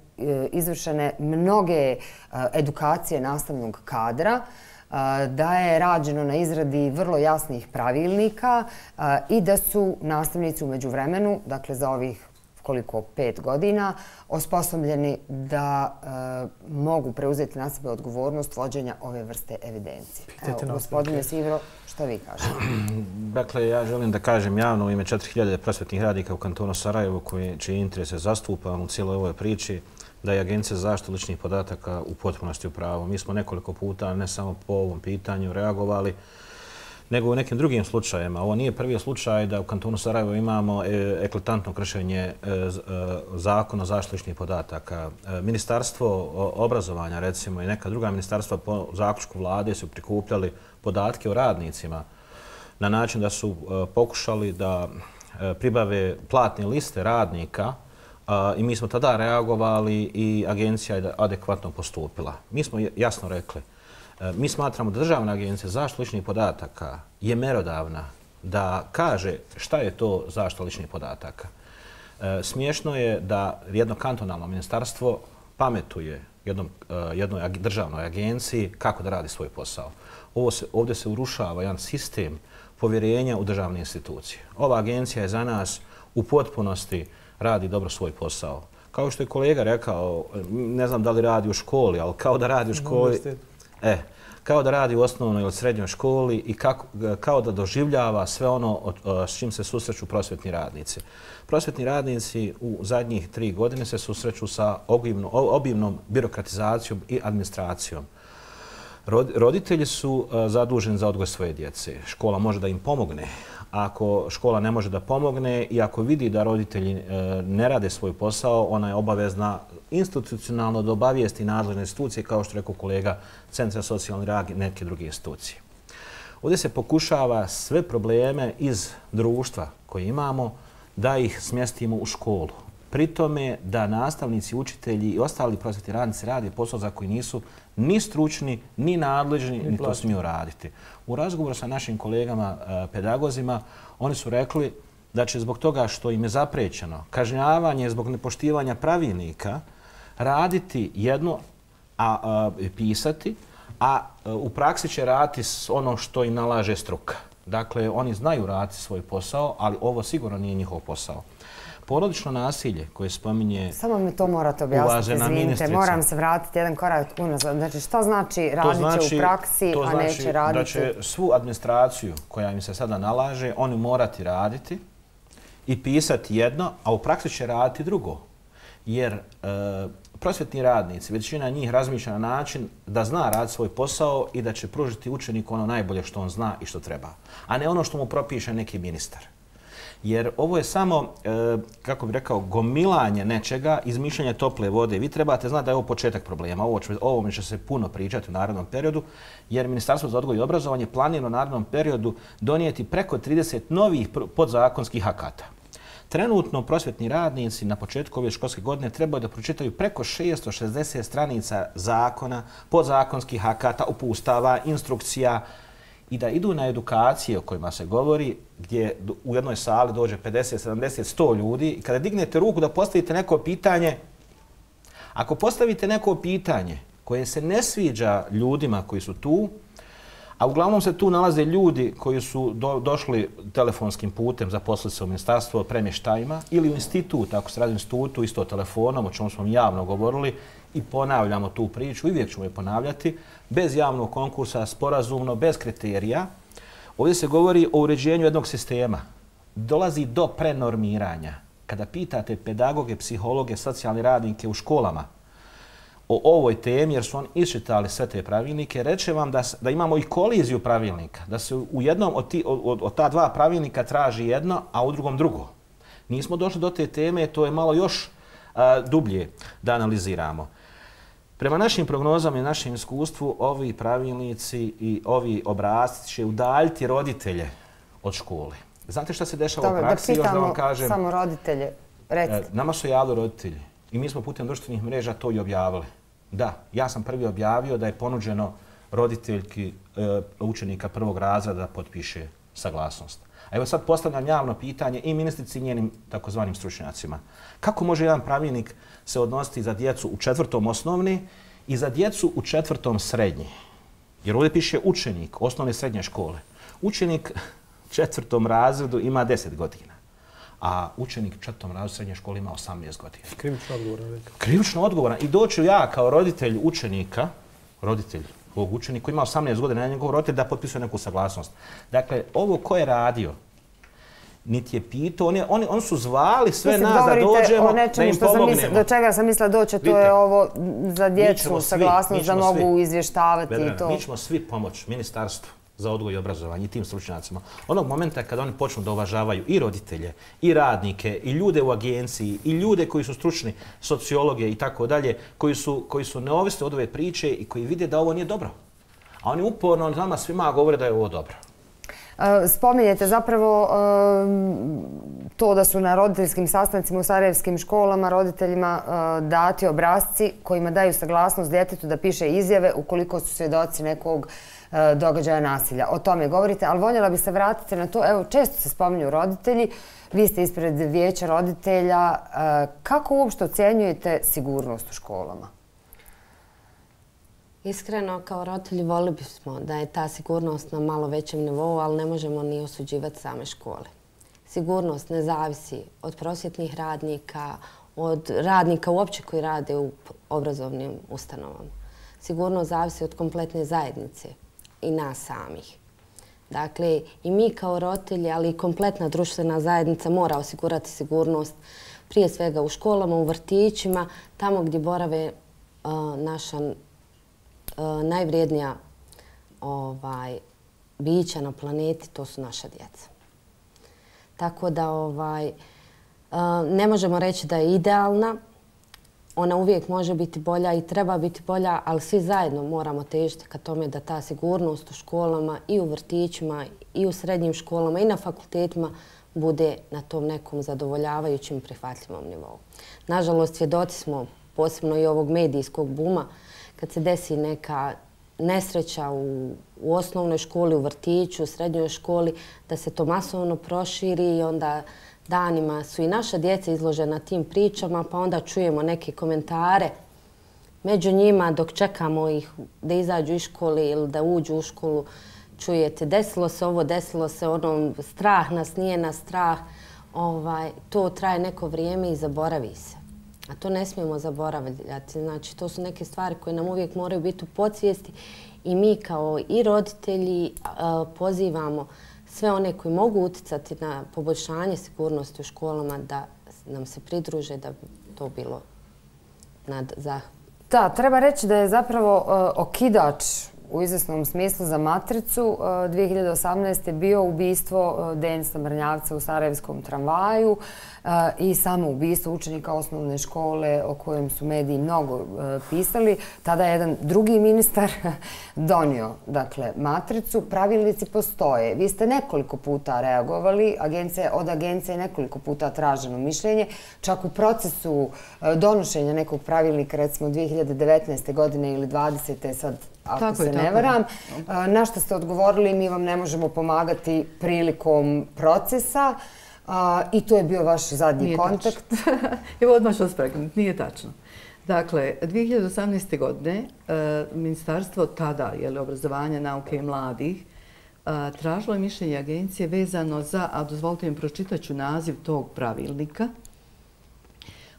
izvršene mnoge uh, edukacije nastavnog kadra, da je rađeno na izradi vrlo jasnih pravilnika i da su nastavnici u međuvremenu, dakle za ovih koliko pet godina, osposobljeni da e, mogu preuzeti na sebe odgovornost vođenja ove vrste evidencije. Evo, gospodine Sivro, što vi kažete? Dakle, ja želim da kažem javno u ime četiri hiljade prosvetnih radnika u kantonu Sarajevo koji, čije interese zastupam u cijeloj ovoj priči, da je Agencija za zaštitu ličnih podataka u potpunosti u pravu. Mi smo nekoliko puta, ne samo po ovom pitanju, reagovali, nego u nekim drugim slučajima. Ovo nije prvi slučaj da u kantonu Sarajevo imamo eklatantno kršenje zakona o zaštiti ličnih podataka. Ministarstvo obrazovanja, recimo, i neka druga ministarstva po zaključku vlade su prikupljali podatke o radnicima na način da su pokušali da pribave platne liste radnika i mi smo tada reagovali i agencija je adekvatno postupila. Mi smo jasno rekli, mi smatramo da Državna agencija za zaštitu ličnih podataka je merodavna da kaže šta je to zaštita ličnih podataka. Smiješno je da jedno kantonalno ministarstvo pametuje jednom, jednoj državnoj agenciji kako da radi svoj posao. Ovo se, ovdje se urušava jedan sistem povjerenja u državne institucije. Ova agencija je za nas u potpunosti radi dobro svoj posao. Kao što je kolega rekao, ne znam da li radi u školi, ali kao da radi u školi, e, kao da radi u osnovnoj ili srednjoj školi i kako, kao da doživljava sve ono s čim se susreću prosvjetni radnici. Prosvjetni radnici u zadnjih tri godine se susreću sa obimnom, obimnom birokratizacijom i administracijom. Roditelji su zaduženi za odgoj svoje djece. Škola može da im pomogne. Ako škola ne može da pomogne i ako vidi da roditelji ne rade svoj posao, ona je obavezna institucionalno da obavijesti nadležne institucije, kao što rekao kolega, Centra socijalni rad i neke druge institucije. Ovdje se pokušava sve probleme iz društva koje imamo da ih smjestimo u školu. Pri tome da nastavnici, učitelji i ostali prosvjetni radnici rade posao za koji nisu ni stručni, ni nadležni, ni to smiju raditi. U razgovoru sa našim kolegama pedagozima, oni su rekli da će zbog toga što im je zaprećeno kažnjavanje zbog nepoštivanja pravilnika raditi jedno, a, a pisati, a u praksi će raditi ono što im nalaže struka. Dakle, oni znaju raditi svoj posao, ali ovo sigurno nije njihov posao. Porodično nasilje koje spominje Samo mi to morate objasniti, izvinite, moram se vratiti jedan korak unazad. Znači, što znači radit će znači, u praksi, a znači neće raditi? To znači da će svu administraciju koja im se sada nalaže, oni morati raditi i pisati jedno, a u praksi će raditi drugo. Jer e, prosvjetni radnici, većina njih razmišlja na način da zna raditi svoj posao i da će pružiti učeniku ono najbolje što on zna i što treba, a ne ono što mu propiše neki ministar. Jer ovo je samo, e, kako bih rekao, gomilanje nečega, izmišljanje tople vode. Vi trebate znati da je ovo početak problema. Ovo će, ovome će se puno pričati u narednom periodu, jer Ministarstvo za odgoj i obrazovanje planira u narednom periodu donijeti preko trideset novih podzakonskih akata. Trenutno prosvjetni radnici na početku ove školske godine trebaju da pročitaju preko šesto šezdeset stranica zakona, podzakonskih akata, upustava, instrukcija, i da idu na edukacije o kojima se govori, gdje u jednoj sali dođe pedeset, sedamdeset, sto ljudi i kada dignete ruku da postavite neko pitanje, ako postavite neko pitanje koje se ne sviđa ljudima koji su tu, a uglavnom se tu nalaze ljudi koji su do, došli telefonskim putem zaposliti se u ministarstvo premještajima ili u institut, ako se radi u institutu, isto telefonom, o čemu smo javno govorili, i ponavljamo tu priču, uvijek ćemo je ponavljati, bez javnog konkursa, sporazumno, bez kriterija. Ovdje se govori o uređenju jednog sistema. Dolazi do prenormiranja. Kada pitate pedagoge, psihologe, socijalne radnike u školama o ovoj temi, jer su oni iščitali sve te pravilnike, reče vam da, da imamo i koliziju pravilnika, da se u jednom od, ti, od, od ta dva pravilnika traži jedno, a u drugom drugo. Nismo došli do te teme, to je malo još a, dublje da analiziramo. Prema našim prognozama i našem iskustvu, ovi pravilnici i ovi obrasci će udaljiti roditelje od škole. Znate šta se dešava Dobre, u praksi? da Još da vam kažem, samo roditelje, recite. Nama su javili roditelji i mi smo putem društvenih mreža to i objavili. Da, ja sam prvi objavio da je ponuđeno roditeljki e, učenika prvog razreda da potpiše saglasnost. A evo sad postavljam javno pitanje i ministrici i njenim takozvanim stručnjacima. Kako može jedan pravilnik se odnositi za djecu u četvrtom osnovne i za djecu u četvrtom srednje? Jer ovdje piše učenik osnovne i srednje škole. Učenik u četvrtom razredu ima deset godina, a učenik u četvrtom razredu srednje škole ima osamnaest godina. Krivično odgovoran. Krivično odgovoran. I doću ja kao roditelj učenika, roditelj ovog učenika koji ima osamnaest godina, na njegov roditelj da potpisuje neku saglasnost. Dakle, ovo ko je radio, niti je pitao, oni, oni, oni su zvali sve Mislim, nas da dođemo, da im pomognemo. Misli, do čega sam mislila doći, to je ovo za djecu, saglasnost da mogu svi izvještavati Vedrena, i to. Mi ćemo svi pomoći ministarstvu za odgoj i obrazovanje i tim stručnjacima. Onog momenta kada oni počnu da uvažavaju i roditelje, i radnike, i ljude u agenciji, i ljude koji su stručni, sociologe i tako dalje, koji su, koji su neovisni od ove priče i koji vide da ovo nije dobro. A oni uporno nama svima govore da je ovo dobro. Spominjete zapravo to da su na roditeljskim sastancima u sarajevskim školama roditeljima dati obrasci kojima daju saglasnost djetetu da piše izjave ukoliko su svjedoci nekog događaja nasilja. O tome govorite, ali voljela bi se vratiti na to. Evo, često se spominju roditelji. Vi ste ispred vijeća roditelja. Kako uopšte ocjenjujete sigurnost u školama? Iskreno, kao roditelji volili bismo da je ta sigurnost na malo većem nivou, ali ne možemo ni osuđivati same škole. Sigurnost ne zavisi od prosvjetnih radnika, od radnika uopće koji rade u obrazovnim ustanovama. Sigurnost zavisi od kompletne zajednice i nas samih. Dakle, i mi kao roditelji, ali i kompletna društvena zajednica mora osigurati sigurnost prije svega u školama, u vrtićima, tamo gdje borave uh, naša uh, najvrijednija ovaj, bića na planeti, to su naša djeca. Tako da ovaj, uh, ne možemo reći da je idealna. Ona uvijek može biti bolja i treba biti bolja, ali svi zajedno moramo težiti ka tome da ta sigurnost u školama i u vrtićima i u srednjim školama i na fakultetima bude na tom nekom zadovoljavajućim prihvatljivom nivou. Nažalost, svjedoci smo posebno i ovog medijskog buma kad se desi neka nesreća u, u osnovnoj školi, u vrtiću, u srednjoj školi, da se to masovno proširi i onda danima su i naša djeca izložena tim pričama, pa onda čujemo neke komentare među njima dok čekamo ih da izađu iz škole ili da uđu u školu. Čujete, desilo se ovo, desilo se ono, strah nas, nije nas strah. Ovaj, to traje neko vrijeme i zaboravi se. A to ne smijemo zaboravljati. Znači, to su neke stvari koje nam uvijek moraju biti u podsvijesti i mi kao i roditelji pozivamo sve one koji mogu utjecati na poboljšanje sigurnosti u školama da nam se pridruže da bi to bilo nad zahvalom. Da, treba reći da je zapravo uh, okidač u izvesnom smislu za matricu uh, dvije hiljade osamnaeste. bio ubistvo uh, Denisa Mrnjavca u sarajevskom tramvaju uh, i samo ubistvo učenika osnovne škole o kojem su mediji mnogo uh, pisali. Tada je jedan drugi ministar donio dakle, matricu. Pravilnici postoje. Vi ste nekoliko puta reagovali. Agencija, od agencije je nekoliko puta traženo mišljenje. Čak u procesu uh, donošenja nekog pravilnika, recimo dvije hiljade devetnaeste. godine ili dvadesete. sad ako tako se je, ne varam. Je. Na što ste odgovorili, mi vam ne možemo pomagati prilikom procesa i to je bio vaš zadnji nije kontakt. Evo odmah ću vas prekrenuti, nije tačno. Dakle, dvije hiljade osamnaeste. godine Ministarstvo tada, jeli, obrazovanja, nauke i mladih, tražilo je mišljenje agencije vezano za, a dozvolite mi pročitaću naziv tog pravilnika,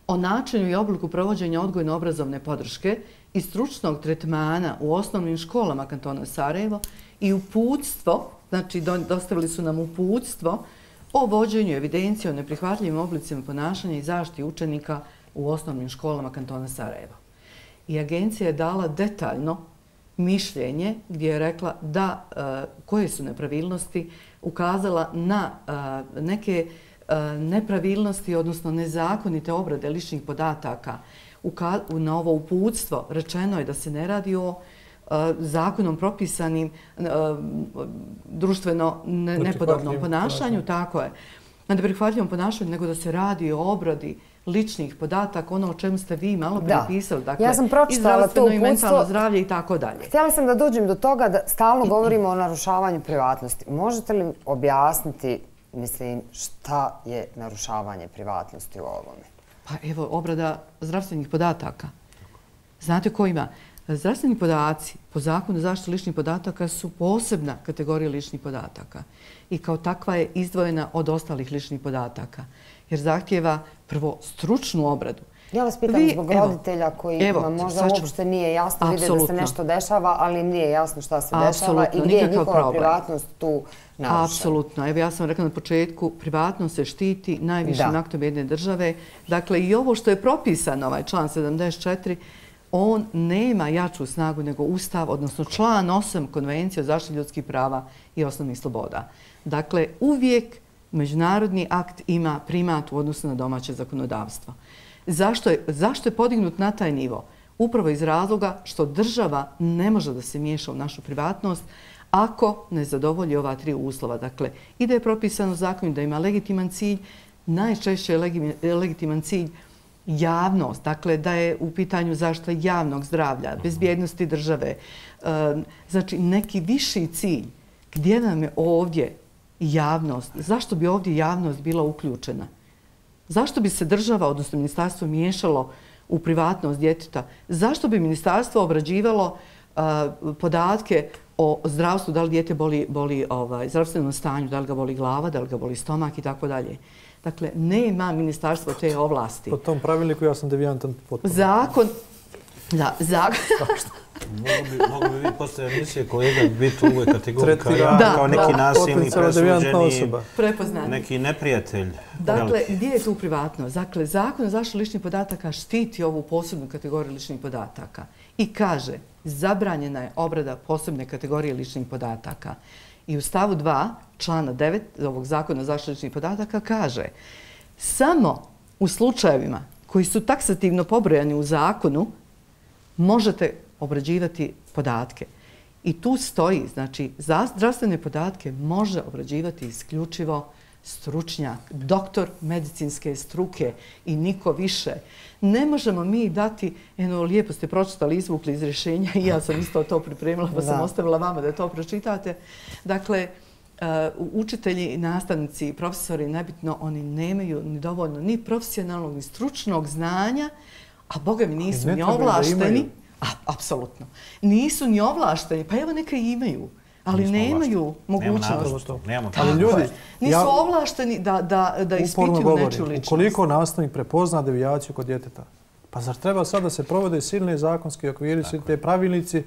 o načinu i obliku provođenja odgojno-obrazovne podrške i stručnog tretmana u osnovnim školama kantona Sarajevo i uputstvo, znači dostavili su nam uputstvo o vođenju evidencije o neprihvatljivim oblicima ponašanja i zaštiti učenika u osnovnim školama kantona Sarajevo. I agencija je dala detaljno mišljenje gdje je rekla da koje su nepravilnosti, ukazala na neke nepravilnosti, odnosno nezakonite obrade ličnih podataka. Na ovo uputstvo rečeno je da se ne radi o zakonom propisanim društveno nepodobnom ponašanju, tako je, na neprihvatljivom ponašanju, nego da se radi o obradi ličnih podataka, ono o čemu ste vi malo prepisali, dakle, ja sam pročitala to uputstvo, i mentalno zdravlje i tako dalje. Htjela sam da dođem do toga da stalno govorimo o narušavanju privatnosti. Možete li objasniti, mislim, šta je narušavanje privatnosti u ovome? Pa evo, obrada zdravstvenih podataka. Znate ko ima? Zdravstveni podaci po zakonu o zaštiti ličnih podataka su posebna kategorija ličnih podataka i kao takva je izdvojena od ostalih ličnih podataka jer zahtjeva prvo stručnu obradu. Ja vas pitam Vi, zbog evo, roditelja koji evo, možda uopšte nije jasno, vide da se nešto dešava, ali im nije jasno šta se dešava i gdje je njihova problem. Privatnost tu narušena. Apsolutno. Evo ja sam rekla na početku, privatnost se štiti najvišim aktom jedne države. Dakle, i ovo što je propisano, ovaj član sedamdeset četiri, on nema jaču snagu nego Ustav, odnosno član osam Konvencije o zaštiti ljudskih prava i osnovnih sloboda. Dakle, uvijek međunarodni akt ima primat u odnosu na domaće zakonodavstvo. Zašto je, zašto je podignut na taj nivo? Upravo iz razloga što država ne može da se miješa u našu privatnost, ako ne zadovolji ova tri uslova. Dakle, i da je propisano zakon da ima legitiman cilj, najčešće je legitiman cilj javnost, dakle da je u pitanju zaštita javnog zdravlja, bezbjednosti države, znači neki viši cilj. Gdje nam je ovdje javnost? Zašto bi ovdje javnost bila uključena? Zašto bi se država, odnosno ministarstvo, miješalo u privatnost djeteta? Zašto bi ministarstvo obrađivalo podatke o zdravstvu, da li dijete boli, boli ovaj, zdravstvenom stanju, da li ga boli glava, da li ga boli stomak i tako dalje? Dakle, nema ministarstvo te ovlasti. Po tom pravilniku ja sam devijantan potpuno. Zakon... Da, zakon... Mogu bi vi posle emisije kolega biti u ovoj kategoriji kao ja, kao neki nasilni, presuđeni, neki neprijatelj. Dakle, gdje je tu privatnost? Dakle, zakon o zaštiti ličnih podataka štiti ovu posebnu kategoriju ličnih podataka i kaže zabranjena je obrada posebne kategorije ličnih podataka. I u stavu dva, člana devet ovog zakona o zaštiti ličnih podataka kaže samo u slučajevima koji su taksativno pobrojani u zakonu možete obrađivati podatke. I tu stoji, znači, za zdravstvene podatke može obrađivati isključivo stručnjak, doktor medicinske struke i niko više. Ne možemo mi dati, eno, lijepo ste pročitali, izvukli iz rješenja i ja sam isto to pripremila, pa sam ostavila vama da to pročitate. Dakle, učitelji, nastavnici, profesori, nebitno, oni nemaju ni dovoljno ni profesionalnog, ni stručnog znanja, a boga mi nisu ni ovlašteni. Apsolutno. Nisu ni ovlašteni, pa evo neka imaju, ali nemaju mogućnost. Ali ljudi... Nisu ovlašteni da ispituju nečiju ličnost. Ukoliko nastavnik prepozna devijaciju kod djeteta, pa zar treba sad da se provode silne zakonske okviri, svi te pravilnici,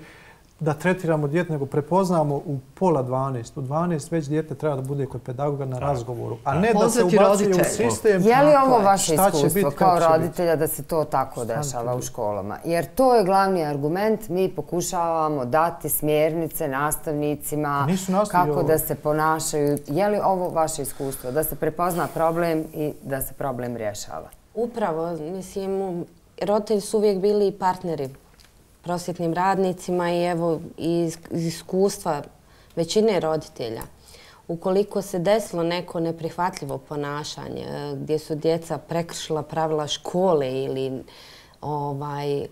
da tretiramo djete, nego prepoznamo u pola dvanaest. U dvanaest već djete treba da bude kod pedagoga na razgovoru, a ne da se ubacuje u sistem. Je li ovo vaše iskustvo kao roditelja da se to tako dešava u školama? Jer to je glavni argument. Mi pokušavamo dati smjernice nastavnicima kako da se ponašaju. Je li ovo vaše iskustvo? Da se prepozna problem i da se problem rješava? Upravo. Mislim, roditelji su uvijek bili partneri prosvjetnim radnicima i evo iz iskustva većine roditelja. Ukoliko se desilo neko neprihvatljivo ponašanje gdje su djeca prekršila pravila škole ili ovaj,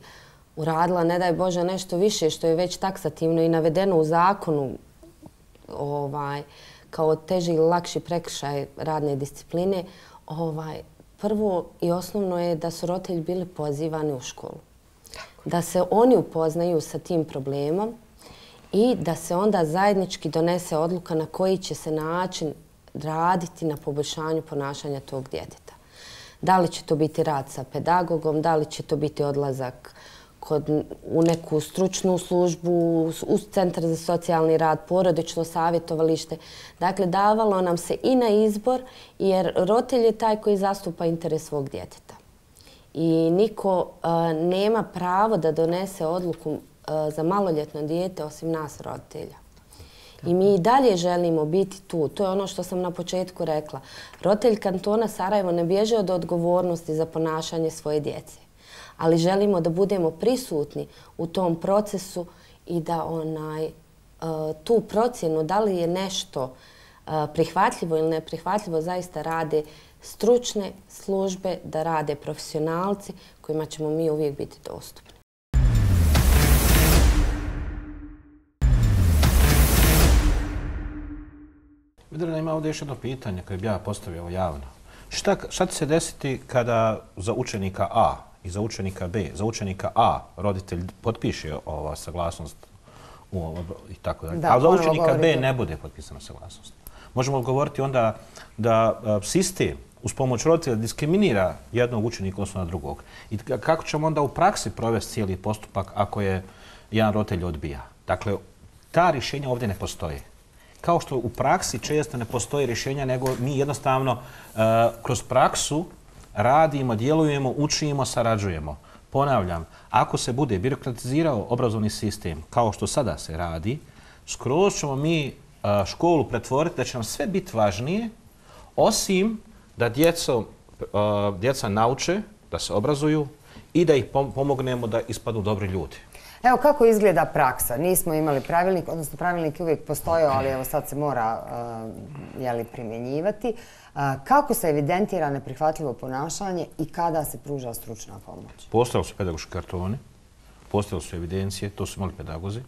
uradila, ne daj Bože, nešto više što je već taksativno i navedeno u zakonu ovaj, kao teži ili lakši prekršaj radne discipline, ovaj, prvo i osnovno je da su roditelji bili pozivani u školu. Da se oni upoznaju sa tim problemom i da se onda zajednički donese odluka na koji će se način raditi na poboljšanju ponašanja tog djeteta. Da li će to biti rad sa pedagogom, da li će to biti odlazak kod, u neku stručnu službu, u centar za socijalni rad, porodično savjetovalište. Dakle, davalo nam se i na izbor, jer roditelj je taj koji zastupa interes svog djeteta. I niko nema pravo da donese odluku za maloljetno dijete osim nas, roditelja. I mi i dalje želimo biti tu. To je ono što sam na početku rekla. Roditelj kantona Sarajevo ne bježe od odgovornosti za ponašanje svoje djece. Ali želimo da budemo prisutni u tom procesu i da onaj, tu procjenu da li je nešto prihvatljivo ili neprihvatljivo zaista rade stručne službe, da rade profesionalci kojima ćemo mi uvijek biti dostupni. Vidjela, ima ovdje još jedno pitanje koje bi ja postavio javno. Šta, šta će se desiti kada za učenika A i za učenika B, za učenika A roditelj potpiše ova saglasnost u, i tako dalje, a za učenika B ne bude potpisana saglasnost? Možemo govoriti onda da sistem uz pomoć roditelja diskriminira jednog učenika odnosno na drugog. I kako ćemo onda u praksi provesti cijeli postupak ako je jedan roditelj odbija? Dakle, ta rješenja ovdje ne postoje. Kao što u praksi često ne postoje rješenja, nego mi jednostavno uh, kroz praksu radimo, djelujemo, učimo, sarađujemo. Ponavljam, ako se bude birokratizirao obrazovni sistem kao što sada se radi, skroz ćemo mi uh, školu pretvoriti da će nam sve biti važnije, osim da djeco, uh, djeca nauče, da se obrazuju i da ih pomognemo da ispadnu dobri ljudi. Evo kako izgleda praksa. Nismo imali pravilnik, odnosno pravilnik je uvijek postojao, ali evo sad se mora uh, jeli, primjenjivati. Uh, kako se evidentira neprihvatljivo ponašanje i kada se pruža stručna pomoć? Postojali su pedagoški kartoni, postojali su evidencije, to su imali pedagozi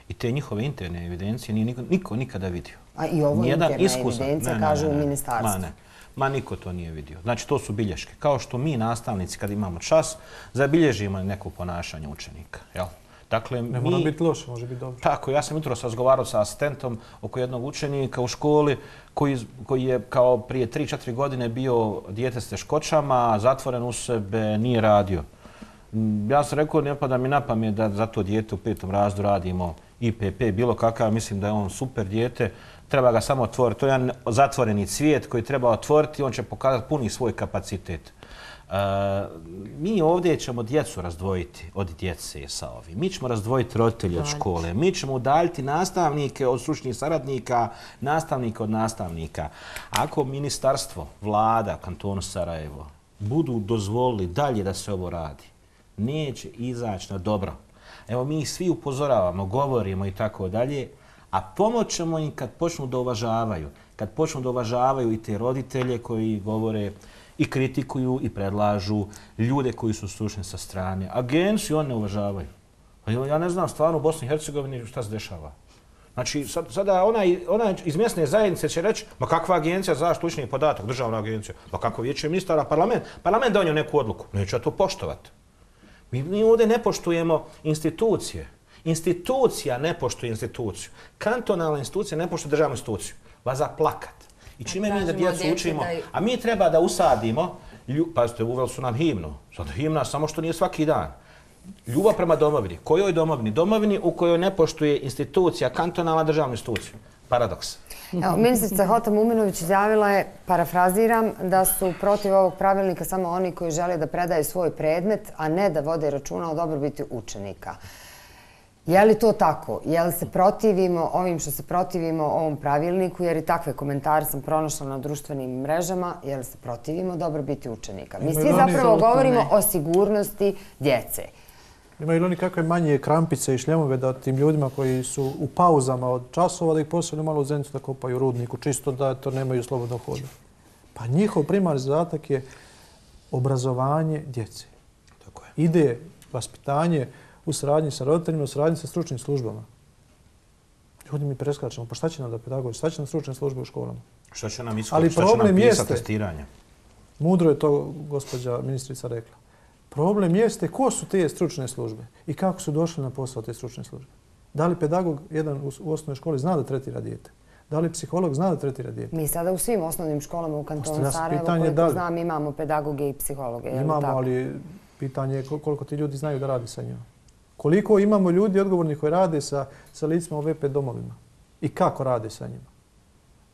i te njihove interne evidencije nije niko, niko nikada vidio. A i ovo Nijedan interna iskusan, evidencija ne, ne, kažu ne, ne, u ministarstvu. Ma ne, ma niko to nije vidio. Znači to su bilješke. Kao što mi nastavnici kad imamo čas zabilježimo neko ponašanje učenika. Jel? Dakle, ne mi, mora biti loše, može biti dobro. Tako, ja sam jutros razgovarao sa asistentom oko jednog učenika u školi koji, koji je kao prije tri četiri godine bio dijete s teškoćama, zatvoren u sebe, nije radio. Ja sam rekao, ne pada mi na pamet da za to dijete u petom razredu radimo I P P, bilo kakav, mislim da je on super dijete, treba ga samo otvoriti. To je jedan zatvoreni cvijet koji treba otvoriti, on će pokazati puni svoj kapacitet. Uh, mi ovdje ćemo djecu razdvojiti od djece sa ovim. Mi ćemo razdvojiti roditelje od škole. Mi ćemo udaljiti nastavnike od stručnih saradnika, nastavnike od nastavnika. Ako ministarstvo, vlada, kantonu Sarajevo budu dozvolili dalje da se ovo radi, neće izaći na dobro. Evo mi ih svi upozoravamo, govorimo i tako dalje, a pomoćemo im kad počnu da uvažavaju. Kad počnu da uvažavaju i te roditelje koji govore i kritikuju i predlažu ljude koji su stručni sa strane. Agenciju oni ne uvažavaju. Ja ne znam stvarno u Bosni i Hercegovini šta se dešava. Znači, sad, sada onaj, onaj iz mjesne zajednice će reći, ma kakva agencija za zaštitu ličnih podataka, državna agencija, ma kako vijeće ministara, parlament, parlament donio neku odluku, neće to poštovati. Mi, mi ovdje ne poštujemo institucije. Institucija ne poštuje instituciju. Kantonalna institucija ne poštuje državnu instituciju. Vaza plakat. I čime mi da djecu učimo, a mi treba da usadimo, lju, pazite, uveli su nam himnu, sad himna samo što nije svaki dan. Ljubav prema domovini. Kojoj domovini? Domovini u kojoj ne poštuje institucija, kantonalna državna institucija. Paradoks. Evo, ministrica Hota Muminović izjavila je, parafraziram, da su protiv ovog pravilnika samo oni koji žele da predaju svoj predmet, a ne da vode računa o dobrobiti učenika. Je li to tako? Je li se protivimo ovim što se protivimo ovom pravilniku, jer i takve komentare sam pronašla na društvenim mrežama, je li se protivimo dobrobiti učenika? Mi svi zapravo govorimo o sigurnosti djece. Imaju li oni kakve manje krampice i šljemove da tim ljudima koji su u pauzama od časova da ih posljedno malo u zenicu da kopaju u rudniku, čisto da to nemaju slobodno hoda? Pa njihov primarni zadatak je obrazovanje djece. Tako je. Ide vaspitanje u saradnji sa roditeljima, u saradnji sa stručnim službama. Ljudi mi preskačemo, pa šta će nam da pedagogi, šta će nam stručne službe u školama? Šta će nam iskop, šta će nam pisati testiranje? Mudro je to gospođa ministrica rekla. Problem jeste ko su te stručne službe i kako su došli na posao te stručne službe. Da li pedagog jedan u osnovnoj školi zna da tretira dijete? Da li psiholog zna da tretira dijete? Mi sada u svim osnovnim školama u kantonu Sarajevo, koliko znam, imamo pedagoge i psihologe. Imamo, ali pitanje je koliko ti ljudi znaju da radi sa njima. Koliko imamo ljudi odgovorni koji rade sa, sa licima u V P domovima i kako rade sa njima.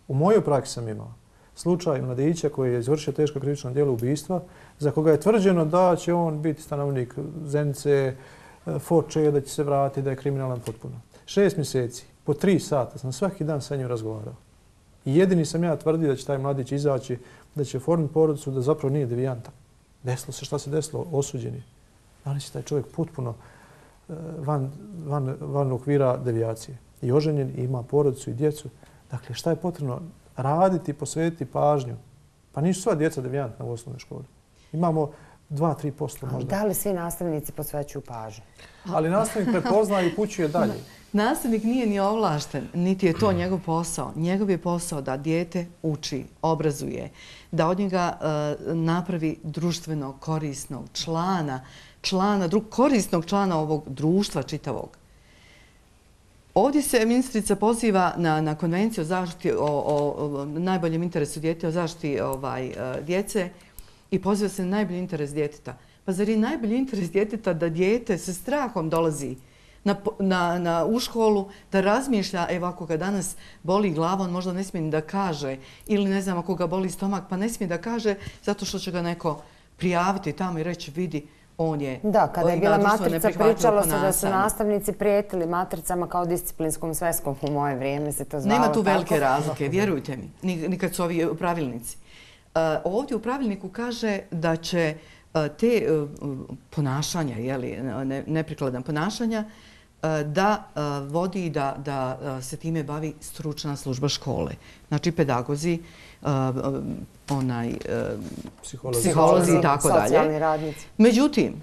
U mojoj praksi sam imao slučaj mladića koji je izvršio teško krivično djelo ubistva, za koga je tvrđeno da će on biti stanovnik Zenice, Foče, da će se vratiti, da je kriminalan potpuno. Šest mjeseci, po tri sata sam svaki dan sa njim razgovarao. I jedini sam ja tvrdio da će taj mladić izaći, da će oformiti porodicu, da zapravo nije devijantan. Desilo se šta se desilo, osuđen je. Danas je taj čovjek potpuno van, van, van okvira devijacije. I oženjen, i ima porodicu i djecu. Dakle, šta je potrebno? Raditi, posvetiti pažnju. Pa nisu sva djeca devijantna u osnovnoj školi. Imamo dva do tri posto možda. Da li svi nastavnici posvećuju pažnju? Ali nastavnik prepozna i upućuje dalje. Nastavnik nije ni ovlašten, niti je to njegov posao. Njegov je posao da dijete uči, obrazuje, da od njega uh, napravi društveno korisnog člana, člana, dru, korisnog člana ovog društva čitavog. Ovdje se ministrica poziva na, na konvenciju o zaštiti, o, o, o najboljem interesu djeteta, o zaštiti ovaj, djece i poziva se na najbolji interes djeteta. Pa zar je najbolji interes djeteta da dijete sa strahom dolazi na, na, na, u školu, da razmišlja, evo ako ga danas boli glava, on možda ne smije ni da kaže, ili ne znam ako ga boli stomak, pa ne smije da kaže zato što će ga neko prijaviti tamo i reći vidi, on je... Da, kada je bila matrica, pričalo se da su nastavnici prijetili matricama kao disciplinskom sveskom. U moje vrijeme se to zvalo tako. Nema tu velike razlike, vjerujte mi, nikad su ovi pravilnici. Ovdje u pravilniku kaže da će te ponašanja, neprikladna ponašanja, da vodi i da se time bavi stručna služba škole. Znači pedagozi, psiholozi i tako dalje. Socijalni radnici. Međutim,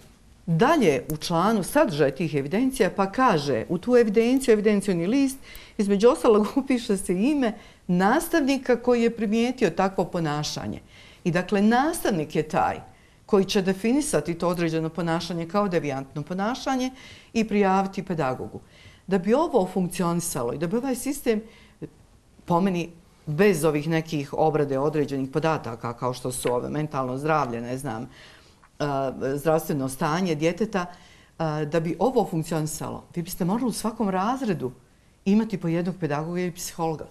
dalje u članu sadržaj tih evidencija pa kaže u tu evidenciju, evidencijoni list, između ostalog upiše se ime nastavnika koji je primijetio takvo ponašanje. I dakle, nastavnik je taj koji će definisati to određeno ponašanje kao devijantno ponašanje i prijaviti pedagogu. Da bi ovo funkcionisalo i da bi ovaj sistem, po meni, bez ovih nekih obrade određenih podataka, kao što su ove mentalno zdravlje, ne znam, zdravstveno stanje djeteta, da bi ovo funkcionisalo, vi biste morali u svakom razredu imati po jednog pedagoga i psihologa.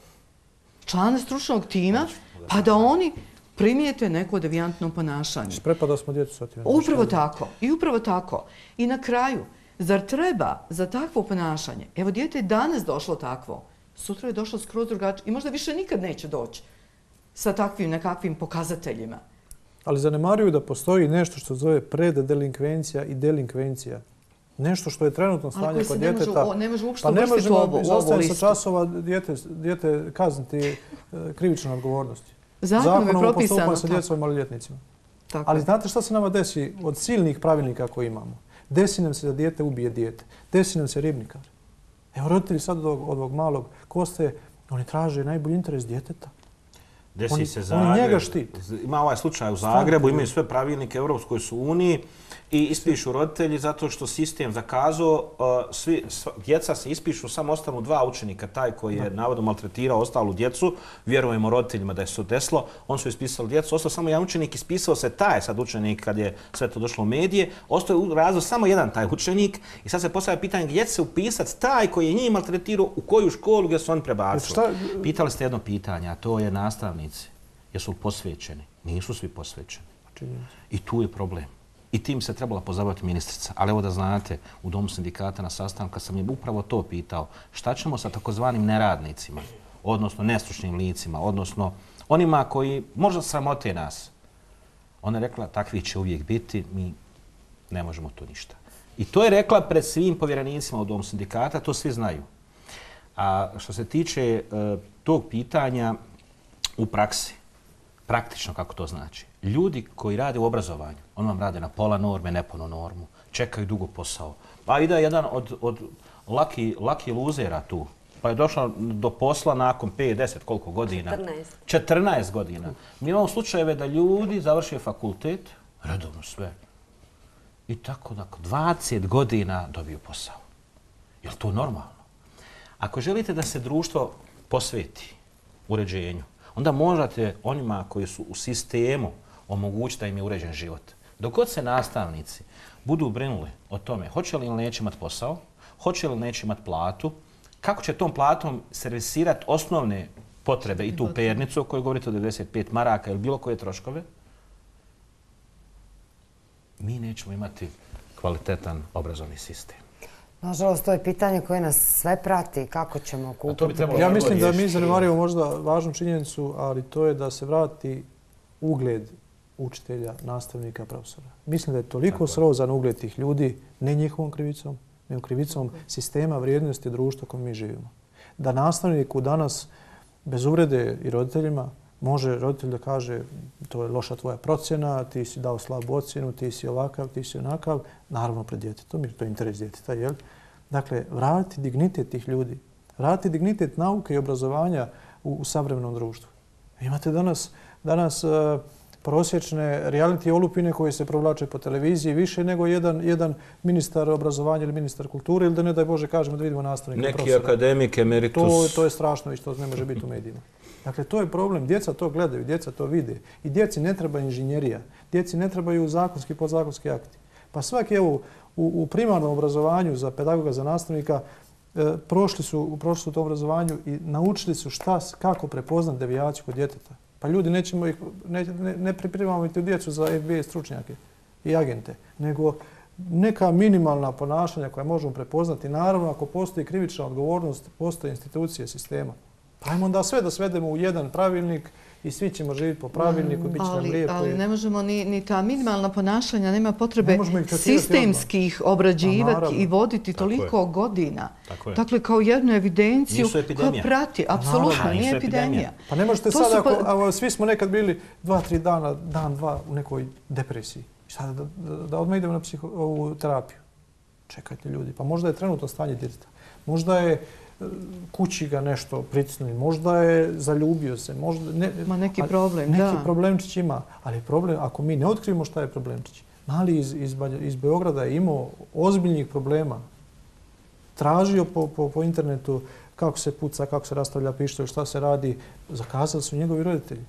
Člana stručnog tima, pa da oni primijete neko devijantno ponašanje. Sprepada smo djecu sa tim. Upravo tako. I upravo tako. I na kraju, zar treba za takvo ponašanje, evo dijete je danas došlo takvo, sutra je došlo skroz drugačije i možda više nikad neće doći sa takvim nekakvim pokazateljima. Ali zanemaruju da postoji nešto što zove preddelinkvencija i delinkvencija. Nešto što je trenutno stanje kod djeteta. Ali ne može uopšte uvrstiti u ovu listu. Pa ne možemo sa časova djete kazniti krivične odgovornosti. Zakonom je propisano. Zakonom o postupanju sa djecom i maloljetnicima. Ali znate šta se nama desi od silnih pravilnika koje imamo? Desi nam se da dijete ubije dijete. Desi nam se ribnikar. Evo roditelji sad od ovog malog Koste, oni traže najbolji interes djeteta. Desi se Zagreb. Ima ovaj slučaj u Zagrebu, imaju sve pravilnike Europskoj su uniji i ispišu roditelji zato što sistem zakazao, djeca se ispišu, samo ostanu dva učenika, taj koji je navodno maltretirao ostalu djecu, vjerujemo roditeljima da je se desilo, on su ispisali djecu, ostao samo jedan učenik, ispisao se taj sad učenik kad je sve to došlo u medije, ostao je u razlogu samo jedan taj učenik i sad se postavlja pitanje gdje će se upisati taj koji je njih maltretirao, u koju školu gdje su oni prebacili. Pitali ste jedno pitanje, a to je nastavnici. Jesu li posvećeni? Nisu svi posvećeni. I tu je problem. I tim se trebala pozabaviti ministrica. Ali evo da znate, u Domu sindikata na sastanku sam je upravo to pitao. Šta ćemo sa takozvanim neradnicima, odnosno nestručnim licima, odnosno onima koji možda sramote nas? Ona je rekla, takvi će uvijek biti, mi ne možemo to ništa. I to je rekla pred svim povjerenicima u Domu sindikata, to svi znaju. A što se tiče uh, tog pitanja u praksi, praktično kako to znači. Ljudi koji rade u obrazovanju, oni vam rade na pola norme, neponu normu, čekaju dugo posao. Pa ide jedan od, od laki, laki luzera tu, pa je došao do posla nakon pet, deset, koliko godina? četrnaest. četrnaest godina. Mi imamo slučajeve da ljudi završaju fakultet, redovno sve, i tako nakon dvadeset godina dobiju posao. Je li to normalno? Ako želite da se društvo posveti uređenju, onda možete onima koji su u sistemu omogućiti da im je uređen život. Dok god se nastavnici budu brinuli o tome hoće li ili neće imati posao, hoće li neće imati platu, kako će tom platom servisirati osnovne potrebe i tu pernicu o kojoj govorite o devedeset pet maraka ili bilo koje troškove, mi nećemo imati kvalitetan obrazovni sistem. Nažalost, to je pitanje koje nas sve prati. Kako ćemo kupiti? Ja mislim da mi zanemarimo možda važnu činjenicu, ali to je da se vrati ugled učitelja, nastavnika, profesora. Mislim da je toliko srozan ugled tih ljudi, ne njihovom krivicom, nego krivicom sistema vrijednosti društva kojem mi živimo. Da nastavniku danas, bez uvrede i roditeljima, može roditelj da kaže to je loša tvoja procjena, ti si dao slabu ocjenu, ti si ovakav, ti si onakav, naravno pred djetetom, jer to je interes djeteta, jel? Dakle, vratiti dignitet tih ljudi, vratiti dignitet nauke i obrazovanja u, u savremenom društvu. Imate danas, danas uh, prosječne reality olupine koje se provlače po televiziji više nego jedan, jedan ministar obrazovanja ili ministar kulture ili da ne daj Bože kažemo da vidimo nastavnika i profesora. Neki akademik, emeritus. To, to je strašno i što ne može biti u medijima. Dakle, to je problem. Djeca to gledaju, djeca to vide. I djeci ne treba inženjerija. Djeci ne trebaju zakonski i podzakonski akti. Pa svaki, evo, u, u primarnom obrazovanju za pedagoga, za nastavnika, e, prošli su, prošli su to obrazovanju i naučili su šta, kako prepoznat devijaciju kod djeteta. Pa ljudi, nećemo ih, ne, ne, ne pripremamo i djecu za F B I stručnjake i agente, nego neka minimalna ponašanja koja možemo prepoznati. Naravno, ako postoji krivična odgovornost, postoje institucije sistema. Ajmo onda sve da svedemo u jedan pravilnik i svi ćemo živjeti po pravilniku, bit će nam lijepo. Ali ne možemo ni ta minimalna ponašanja, nema potrebe sistemskih obrađivati i voditi toliko godina. Dakle, kao jednu evidenciju koja prati. Apsolutno, nije epidemija. Pa ne možete sad, ako svi smo nekad bili dva, tri dana, dan, dva u nekoj depresiji. Sada da odmah idemo na terapiju. Čekajte ljudi, pa možda je trenutno stanje djeteta. Možda je kući ga nešto pritisnuli, možda je zaljubio se, možda... Ne, Ma neki problem, da. Neki problemčić ima, ali problem, ako mi ne otkrivimo šta je problemčić, mali iz, iz, iz Beograda je imao ozbiljnih problema, tražio po, po, po internetu kako se puca, kako se rastavlja pištolj, šta se radi, zakazali su njegovi roditelji.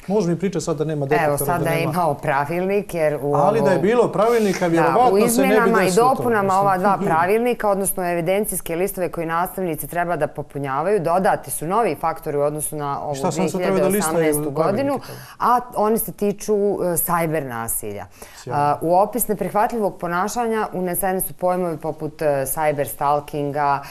Može mi pričati sad da nema detektora. Evo, sada je imao pravilnik, jer u Ali da je bilo pravilnika, vjerovatno se ne bi desilo to. U izmjenama i dopunama ova dva pravilnika, odnosno evidencijske listove koje nastavnici treba da popunjavaju, dodati su novi faktori u odnosu na ovu dvije hiljade osamnaestu. godinu, a oni se tiču sajber nasilja. U opis neprihvatljivog ponašanja uneseni su pojmovi poput sajber stalkinga,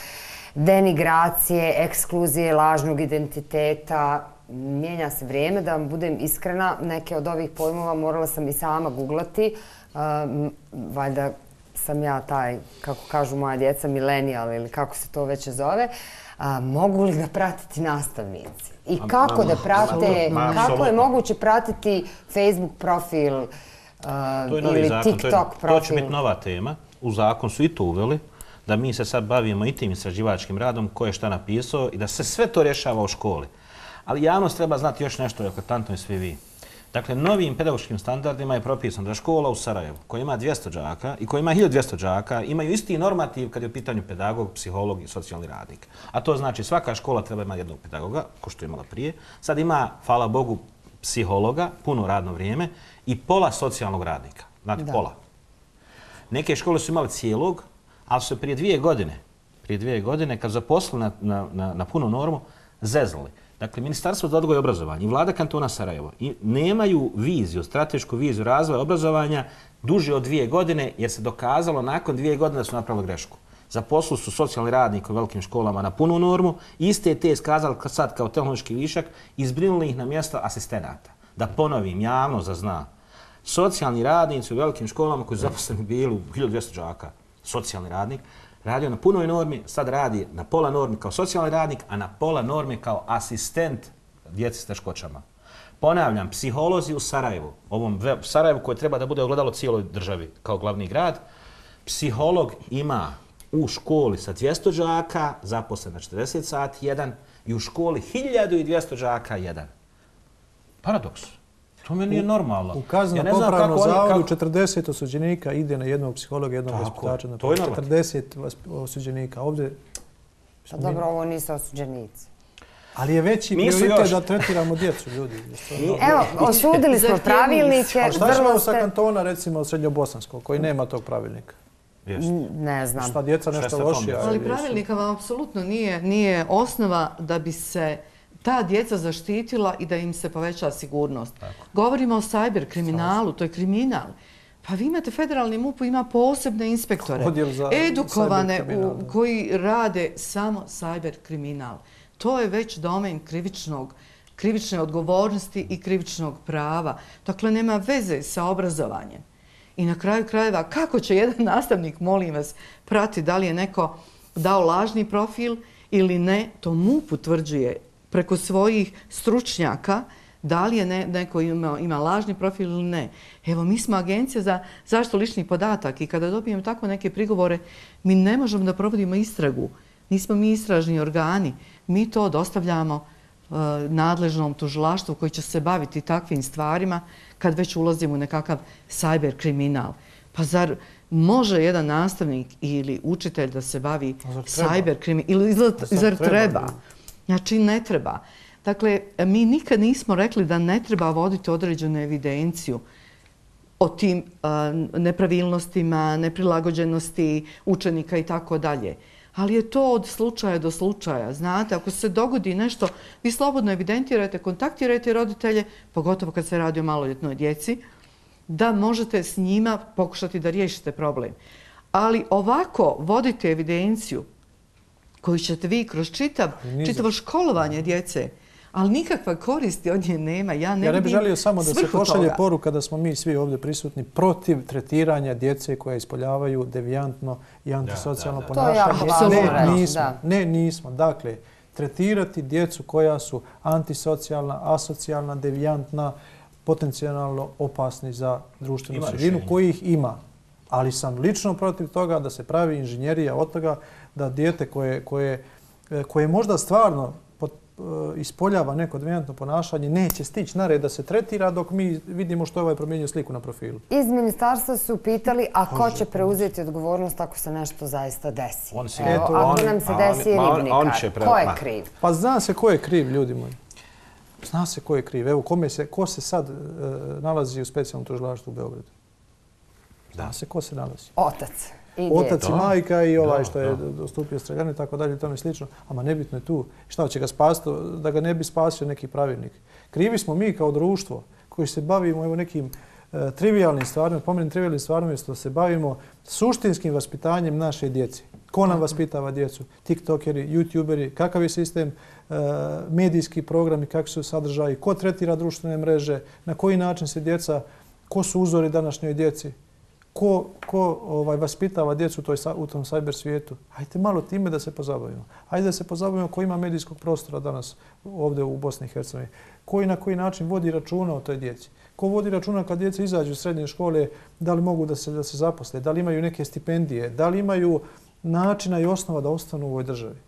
denigracije, ekskluzije, lažnog identiteta. Mijenja se vrijeme, da vam budem iskrena, neke od ovih pojmova morala sam i sama googlati. Valjda sam ja taj, kako kažu moja djeca, milenijal ili kako se to već zove. Mogu li ga pratiti nastavnici? I kako da prate, kako je moguće pratiti Facebook profil ili TikTok profil? To će biti nova tema. U zakon su i to uveli, da mi se sad bavimo i tim istraživačkim radom, ko je šta napisao i da se sve to rješava u školi. Ali javnost treba znati još nešto, eklatantno i svi vi. Dakle, novim pedagoškim standardima je propisano da škola u Sarajevu, koja ima dvjesto đaka i koja ima hiljadu dvjesto đaka, imaju isti normativ kad je u pitanju pedagog, psiholog i socijalni radnik. A to znači svaka škola treba imati jednog pedagoga, ko što je imala prije. Sad ima, hvala Bogu, psihologa, puno radno vrijeme i pola socijalnog radnika. Znate, pola. Neke škole su imali cijelog, ali su prije dvije godine, prije dvije godine, kad zaposlili na, na, na, na punu normu, zezali. Dakle, Ministarstvo za odgoj i obrazovanje i vlada kantona Sarajevo nemaju viziju, stratešku viziju razvoja obrazovanja duže od dvije godine, jer se dokazalo nakon dvije godine da su napravili grešku. Zaposlili su socijalni radnik u velikim školama na punu normu, iste te iskazali sad kao tehnološki višak i izbrinuli ih na mjesto asistenata. Da ponovim, javno zazna. Socijalni radnici u velikim školama koji su zaposleni bili u hiljadu dvjesto đaka, socijalni radnik, radio na punoj normi, sad radi na pola normi kao socijalni radnik, a na pola normi kao asistent djeci s teškoćama. Ponavljam, psiholozi u Sarajevu, ovom Sarajevu koje treba da bude ogledalo cijeloj državi kao glavni grad, psiholog ima u školi sa dvjesto đaka, zaposlen na četrdeset sati, jedan, i u školi hiljadu dvjesto đaka, jedan. Paradoks. To meni je normalno. U kazneno-popravnom zavodu četrdeset osuđenika ide na jednog psihologa, jednog vaspitača. To je četrdeset osuđenika. Ovdje... Pa dobro, ovo nisu osuđenici. Ali je veći prioritet da tretiramo djecu, ljudi. Evo, osudili smo pravilnike. A šta ćemo sa kantona, recimo, Srednjobosanskog, koji nema tog pravilnika? Ne znam. Šta djeca nešto lošija? Ali pravilnika vam apsolutno nije osnova da bi se ta djeca zaštitila i da im se poveća sigurnost. Govorimo o sajber kriminalu, to je kriminal. Pa vi imate, federalni M U P ima posebne inspektore, edukovane koji rade samo sajber kriminal. To je već domen krivičnog, krivične odgovornosti i krivičnog prava. Dakle, nema veze sa obrazovanjem. I na kraju krajeva, kako će jedan nastavnik, molim vas, prati da li je neko dao lažni profil ili ne, to M U P utvrđuje preko svojih stručnjaka da li je neko ima, ima lažni profil ili ne. Evo, mi smo agencija za zaštitu ličnih podataka i kada dobijemo tako neke prigovore, mi ne možemo da provodimo istragu. Nismo mi istražni organi. Mi to dostavljamo uh, nadležnom tužilaštvu koji će se baviti takvim stvarima kad već ulazimo u nekakav sajber kriminal. Pa zar može jedan nastavnik ili učitelj da se bavi sajber kriminal? Ili zar treba? Znači, ne treba. Dakle, mi nikad nismo rekli da ne treba voditi određenu evidenciju o tim uh, nepravilnostima, neprilagođenosti učenika i tako dalje. Ali je to od slučaja do slučaja. Znate, ako se dogodi nešto, vi slobodno evidentirate, kontaktirajte roditelje, pogotovo kad se radi o maloljetnoj djeci, da možete s njima pokušati da riješite problem. Ali ovako vodite evidenciju koju ćete vi kroz čitav, čitavo školovanje djece, ali nikakva koristi od nje nema. Ja ne, ja ne bih želio samo da se pošalje toga. poruka da smo mi svi ovdje prisutni protiv tretiranja djece koja ispoljavaju devijantno i antisocijalno da, da. ponašanje. To je jako ne, nismo, da. ne, nismo. Dakle, tretirati djecu koja su antisocijalna, asocijalna, devijantna, potencijalno opasni za društvenu sredinu, kojih ima. Ali sam lično protiv toga da se pravi inženjerija od toga da dijete koje, koje, koje možda stvarno ispoljava neko devijantno ponašanje neće stići na red da se tretira dok mi vidimo što je ovaj promijenio sliku na profilu. Iz ministarstva su pitali, a ko će preuzeti odgovornost ako se nešto zaista desi? On se, Evo, eto, ako on, nam se on, desi on, ribnikar, on će pre... ko je kriv? Pa zna se ko je kriv, ljudi moji. Zna se ko je kriv. Evo, kome se, ko se sad e, nalazi u specijalnom tužilaštvu u Beogradu? Zna Da. se ko se nalazi. Otac. I Otac i majka i ovaj Da, što je da. dostupio streljanu i tako dalje i tome slično. Ama nebitno je tu. Šta će ga spasiti da ga ne bi spasio neki pravilnik. Krivi smo mi kao društvo koji se bavimo evo nekim e, trivialnim stvarima, pomenim trivialnim stvarima, što se bavimo suštinskim vaspitanjem naše djece. Ko nam vaspitava djecu? TikTokeri, YouTuberi, kakav je sistem, e, medijski programi, kakvi su sadržaji, ko tretira društvene mreže, na koji način se djeca, ko su uzori današnjoj djeci? Ko, ko ovaj, vaspitava djecu u, toj, u tom cyber svijetu? Hajde malo time da se pozabavimo. Hajde da se pozabavimo ko ima medijskog prostora danas ovdje u Bosni i Hercegovini. Ko i na koji način vodi računa o toj djeci. Ko vodi računa kad djeca izađu iz srednje škole, da li mogu da se, da se zaposle, da li imaju neke stipendije, da li imaju načina i osnova da ostanu u ovoj državi.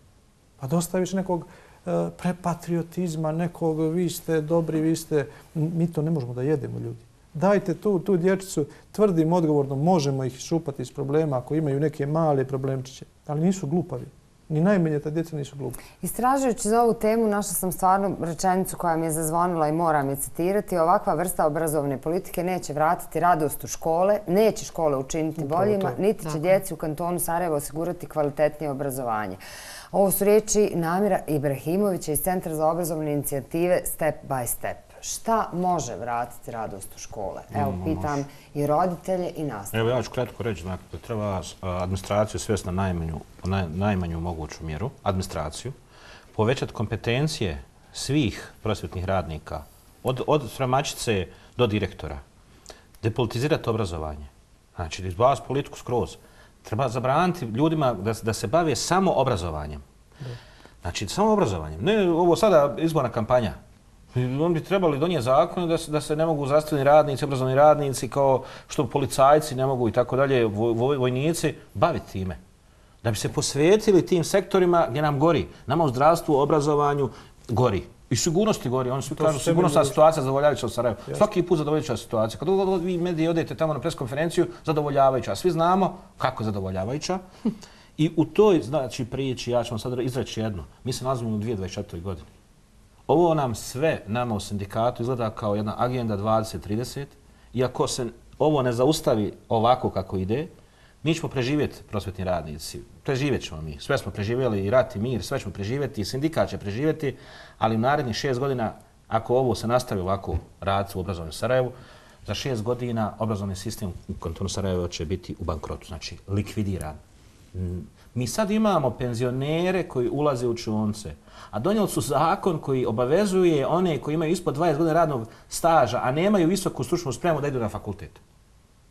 Pa dosta više nekog e, prepatriotizma, nekog vi ste dobri, vi ste... Mi to ne možemo da jedemo, ljudi. Dajte tu, tu dječicu, tvrdim odgovorno, možemo ih šupati iz problema ako imaju neke male problemčiće, ali nisu glupavi. Ni najmanje ta djeca nisu glupa. Istražujući za ovu temu, našla sam stvarno rečenicu koja mi je zazvonila i moram je citirati. Ovakva vrsta obrazovne politike neće vratiti radost u škole, neće škole učiniti boljima, niti će djeci u kantonu Sarajevo osigurati kvalitetnije obrazovanje. Ovo su riječi Namira Ibrahimovića iz Centra za obrazovne inicijative Step by Step. Šta može vratiti radost u škole? Evo, pitam i roditelje i nastavnike. Evo, ja ću kratko reći da treba administraciju svesti na najmanju, naj, najmanju moguću mjeru, administraciju, povećati kompetencije svih prosvjetnih radnika, od, od spremačice do direktora, depolitizirati obrazovanje, znači izbaviti politiku skroz. Treba zabraniti ljudima da, da se bave samo obrazovanjem. Znači, samo obrazovanjem. Ne ovo sada izborna kampanja. On bi trebali donijeti zakon da se, da se ne mogu zdravstveni radnici, obrazovni radnici, kao što policajci ne mogu i tako dalje, voj, vojnici, baviti time. Da bi se posvetili tim sektorima gdje nam gori. Nama u zdravstvu, obrazovanju gori. I sigurnosti gori. Oni svi kažu sigurnosna situacija zadovoljavajuća u Sarajevu. Yes. Svaki put zadovoljavajuća situacija. Kad vi mediji odete tamo na preskonferenciju, zadovoljavajuća. Svi znamo kako je zadovoljavajuća. I u toj znači, priči, ja ću vam sad izreći jedno. Mi se nalazimo u dvije tisuće dvadeset četvrtoj godini. Ovo nam sve, nama u sindikatu, izgleda kao jedna agenda dvadeset trideset. Iako se ovo ne zaustavi ovako kako ide, mi ćemo preživjeti, prosvjetni radnici. Preživjet ćemo mi. Sve smo preživjeli, i rat i mir, sve ćemo preživjeti, i sindikat će preživjeti, ali u narednih šest godina, ako ovo se nastavi ovako raditi u obrazovnom Sarajevu, za šest godina obrazovni sistem u kantonu Sarajevo će biti u bankrotu, znači likvidiran. Mi sad imamo penzionere koji ulaze u učionice, a donijeli su zakon koji obavezuje one koji imaju ispod dvadeset godina radnog staža, a nemaju visoku stručnu spremu da idu na fakultet.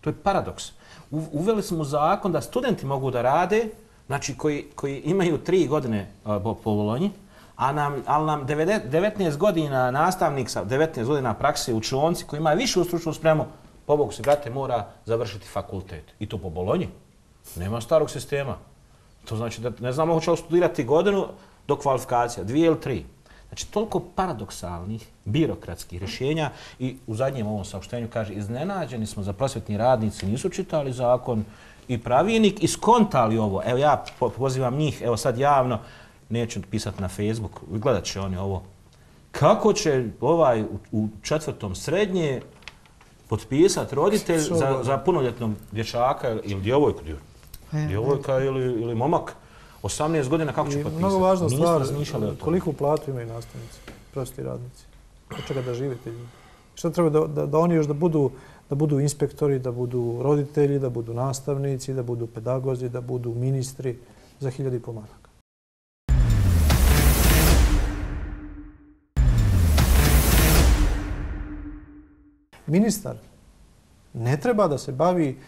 To je paradoks. Uveli smo zakon da studenti mogu da rade, znači koji, koji imaju tri godine po, po Bolonji, a nam, ali nam devetnaest godina nastavnik sa devetnaest godina prakse u učionci koji ima višu stručnu spremu, pobogu se, brate, mora završiti fakultet. I to po Bolonji. Nema starog sistema. To znači da ne znamo hoće li studirati godinu do kvalifikacija, dvije ili tri. Znači, toliko paradoksalnih, birokratskih rješenja i u zadnjem ovom saopštenju kaže iznenađeni smo za prosvjetni radnici, nisu čitali zakon i pravilnik i skontali ovo. Evo ja pozivam njih, evo sad javno, neću pisati na Facebook, gledat će oni ovo. Kako će ovaj u, u četvrtom srednje potpisati roditelj za, za punoljetnog dječaka ili djevojku, djevojka ili, ili momak? osamnaest godina kako će potpisati? Mnogo važna stvar, koliku platu imaju nastavnici, prosvjetni radnici? Od čega da žive ti ljudi? Šta treba da, da, da oni još da budu, da budu inspektori, da budu roditelji, da budu nastavnici, da budu pedagozi, da budu ministri za hiljadi pomaraka? Ministar ne treba da se bavi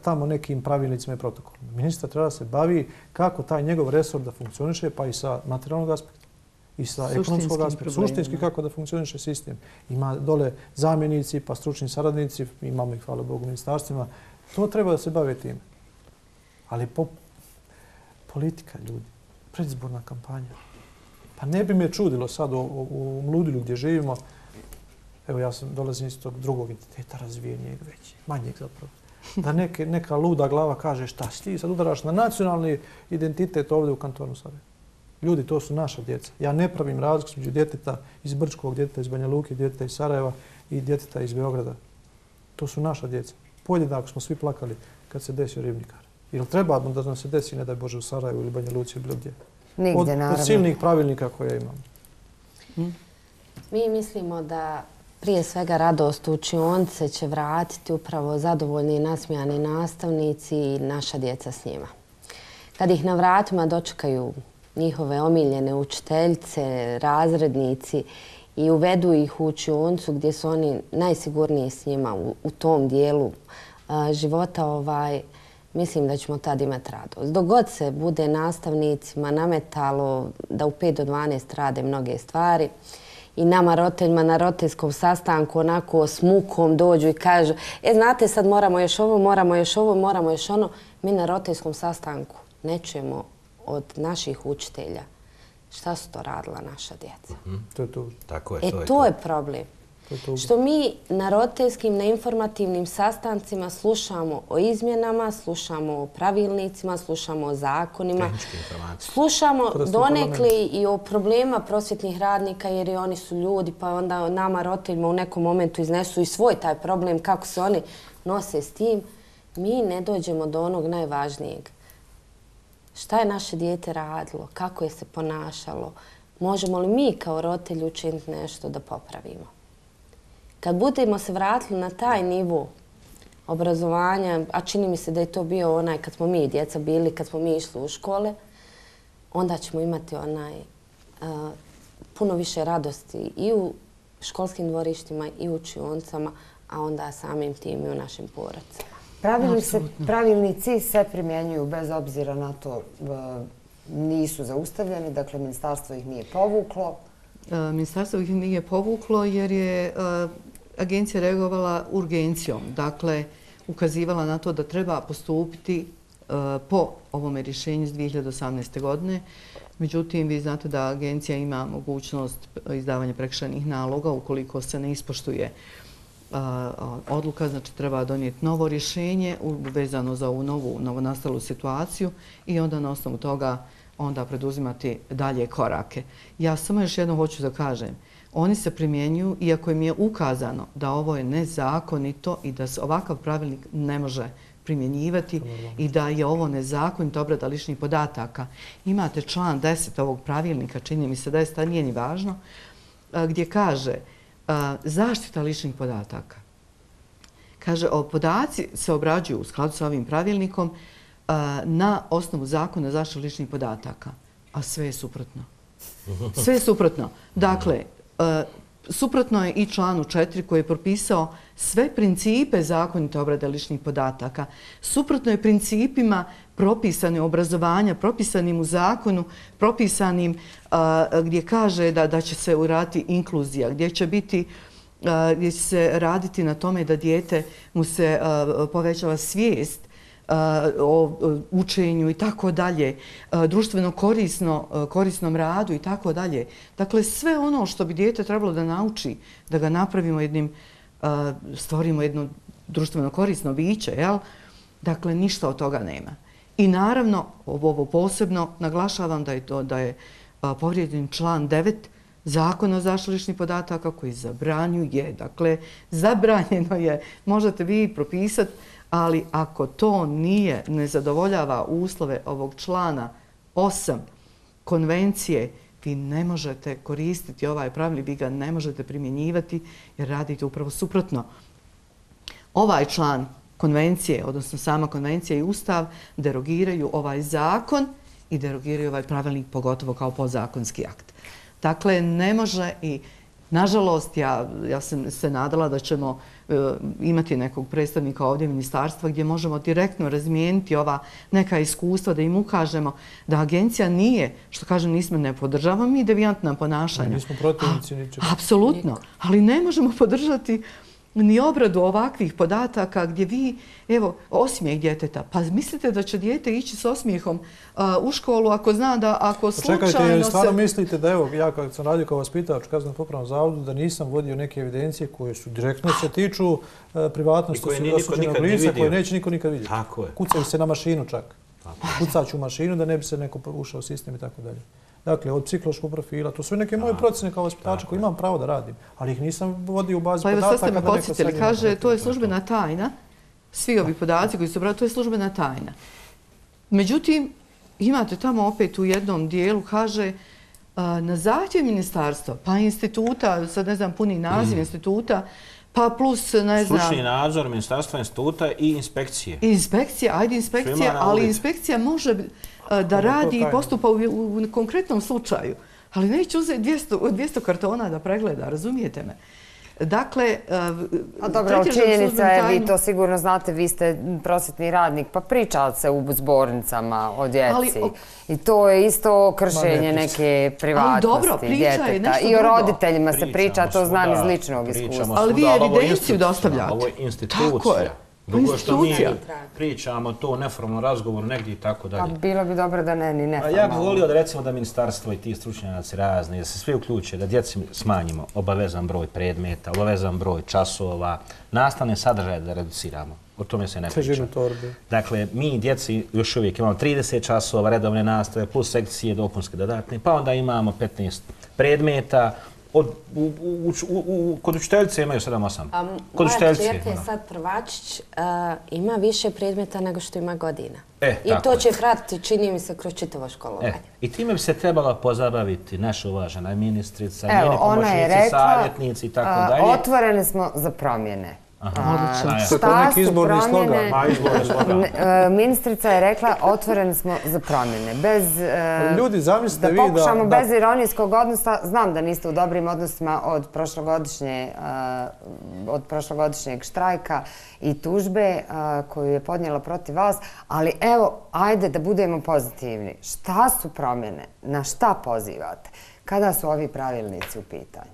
tamo nekim pravilnicima i protokolima. Ministar treba da se bavi kako taj njegov resor da funkcioniše, pa i sa materijalnog aspekta i sa ekonomskog aspekta. Suštinski kako da funkcioniše sistem. Ima dole zamjenici, pa stručni saradnici, imamo ih, hvala Bogu, ministarstvima. To treba da se bave time. Ali po, politika, ljudi, predizborna kampanja. Pa ne bi me čudilo sad u, u, u Mludilu gdje živimo. Evo ja sam dolazim iz tog drugog identiteta, razvijenijeg većeg, manjeg zapravo. Da neke, neka luda glava kaže šta si ti sad udaraš na nacionalni identitet ovdje u kantonu Sarajevo. Ljudi, to su naša djeca. Ja ne pravim razliku među djeteta iz Brčkog, djeteta iz Banja Luke, djeteta iz Sarajeva i djeteta iz Beograda. To su naša djeca. Podjednako smo svi plakali kad se desio Ribnikar. Ili treba da nam se desi, ne daj Bože, u Sarajevu ili Banja Luci ili bilo gdje? Nigdje, od, naravno. Od silnih pravilnika koje imamo. Hmm. Mi mislimo da prije svega radost u učionice će vratiti upravo zadovoljni i nasmijani nastavnici i naša djeca s njima. Kad ih na vratima dočekaju njihove omiljene učiteljice, razrednici i uvedu ih u učionicu gdje su oni najsigurniji s njima u, u tom dijelu a, života, ovaj, mislim da ćemo tad imati radost. Dok god se bude nastavnicima nametalo da u pet do dvanaest rade mnoge stvari, i nama roditeljima na roditeljskom sastanku onako s mukom dođu i kažu e, znate, sad moramo još ovo, moramo još ovo, moramo još ono. Mi na roditeljskom sastanku ne čujemo od naših učitelja šta su to radila naša djeca. Mm-hmm. To je to. Tako je, e, to je to. to je problem. To je što mi na roditeljskim, na informativnim sastancima slušamo o izmjenama, slušamo o pravilnicima, slušamo o zakonima, slušamo donekle i o problema prosvjetnih radnika jer i oni su ljudi, pa onda nama roditeljima u nekom momentu iznesu i svoj taj problem, kako se oni nose s tim. Mi ne dođemo do onog najvažnijeg. Šta je naše dijete radilo, kako je se ponašalo, možemo li mi kao roditelji učiniti nešto da popravimo. Kad budemo se vratili na taj nivo obrazovanja, a čini mi se da je to bio onaj kad smo mi djeca bili, kad smo mi išli u škole, onda ćemo imati onaj uh, puno više radosti i u školskim dvorištima i u učionicama, a onda samim tim i u našim porodicama. Pravilni se, pravilnici se primjenjuju bez obzira na to, nisu zaustavljeni, dakle ministarstvo ih nije povuklo. Ministarstvo ih nije povuklo jer je agencija reagovala urgencijom, dakle ukazivala na to da treba postupiti po ovome rješenju iz dvije hiljade osamnaeste. godine. Međutim, vi znate da agencija ima mogućnost izdavanja prekršajnih naloga ukoliko se ne ispoštuje odluka, znači treba donijeti novo rješenje vezano za ovu novu, novonastalu situaciju i onda na osnovu toga onda preduzimati dalje korake. Ja samo još jedno hoću da kažem. Oni se primjenjuju, iako im je ukazano da ovo je nezakonito i da se ovakav pravilnik ne može primjenjivati i da je ovo nezakonito obrada ličnih podataka. Imate član deset ovog pravilnika, čini mi se da je sta nije ni važno, gdje kaže zaštita ličnih podataka. Kaže, podaci se obrađuju u skladu sa ovim pravilnikom na osnovu zakona o zaštiti ličnih podataka, a sve je suprotno. Sve je suprotno. Dakle, suprotno je i članu četiri koji je propisao sve principe zakonite obrade ličnih podataka. Suprotno je principima propisane obrazovanja, propisanim u zakonu, propisanim gdje kaže da, da će se uraditi inkluzija, gdje će biti gdje će se raditi na tome da dijete mu se povećava svijest o učenju i tako dalje, društveno korisno, korisnom radu i tako dalje. Dakle, sve ono što bi dijete trebalo da nauči, da ga napravimo jednim, stvorimo jedno društveno korisno biće, jel? Dakle, ništa od toga nema. I naravno, ovo posebno naglašavam da je to da je povrijeđen član devet Zakona o zaštiti ličnih podataka koji zabranjuje, dakle, zabranjeno je, možete vi propisati, ali ako to nije, ne zadovoljava uslove ovog člana osam konvencije, vi ne možete koristiti ovaj pravilnik, vi ga ne možete primjenjivati jer radite upravo suprotno. Ovaj član konvencije, odnosno sama konvencija i ustav, derogiraju ovaj zakon i derogiraju ovaj pravilnik pogotovo kao podzakonski akt. Dakle, ne može i Nažalost, ja, ja sam se nadala da ćemo e, imati nekog predstavnika ovdje ministarstva gdje možemo direktno razmijeniti ova neka iskustva, da im ukažemo da agencija nije, što kažem, nismo ne podržavamo mi devijantna ponašanja. Ne, nismo protivnici ničega. Apsolutno, ali ne možemo podržati ni obradu ovakvih podataka gdje vi, evo, osmijeh djeteta. Pa mislite da će dijete ići s osmijehom uh, u školu ako zna da ako slučajno se... Čekajte, stvarno mislite da, evo, ja kad sam radio kao vaspitač u Kaznenom popravnom zavodu, da nisam vodio neke evidencije koje su direktno se tiču uh, privatnosti osuđenog lica, koje neće niko nikad vidjeti. Tako je. Kucaju se na mašinu čak. Kucaću u mašinu da ne bi se neko ušao u sistem i tako dalje. Dakle, od psihološkog profila, to su neke moje procjene kao vaspitača koji imam pravo da radim, ali ih nisam vodio u bazi podataka. Pa evo sad ste me podsjetili, kaže, to je službena tajna, svi ovi podaci koji su brali, to je službena tajna. Međutim, imate tamo opet u jednom dijelu, kaže, na zahtjev ministarstva, pa instituta, sad ne znam puni naziv instituta, pa plus, ne znam... Stručni nadzor ministarstva, instituta i inspekcije. Inspekcija, ajde inspekcija, ali inspekcija može da radi i postupa u, u konkretnom slučaju. Ali neće uzeti dvjesto kartona da pregleda, razumijete me? Dakle, a dobro, činjenica je, vi to sigurno znate, vi ste prosvjetni radnik, pa pričali se u zbornicama o djeci. I to je isto kršenje neke privatnosti djeteta. I o roditeljima se priča, to znam iz ličnog iskustva. Ali vi evidenciju dostavljate. Ovo je institucija. Drugo što mi pričamo to neformalno razgovor negdje i tako dalje. Pa bilo bi dobro da ne, ni neformalno. Ja bih volio da recimo da ministarstvo i ti stručnjaci razni, da se svi uključe, da djeci smanjimo obavezan broj predmeta, obavezan broj časova, nastavne sadržaje da reduciramo. O tome se ne priča. Dakle, mi djeci još uvijek imamo trideset časova redovne nastave plus sekcije dopunske dodatne, pa onda imamo petnaest predmeta. Od, u, u, u, u, kod učiteljice imaju sedam osam. Moja čerka je sad prvačić, uh, ima više predmeta nego što ima godina. E, I to će pratiti, čini mi se, kroz čitavo školovanje. E, I time bi se trebala pozabaviti naša uvažena ministrica, Evo, njeni pomoćnici, savjetnici i tako dalje. Otvoreni smo za promjene. Odlično. Šta su promjene? Ministrica je rekla otvoreni smo za promjene. Bez, Ljudi, zamislite vi da... Da pokušamo bez ironijskog odnosa, znam da niste u dobrim odnosima od prošlogodišnje, od prošlogodišnjeg štrajka i tužbe koju je podnijela protiv vas, ali evo, ajde da budemo pozitivni. Šta su promjene? Na šta pozivate? Kada su ovi pravilnici u pitanju?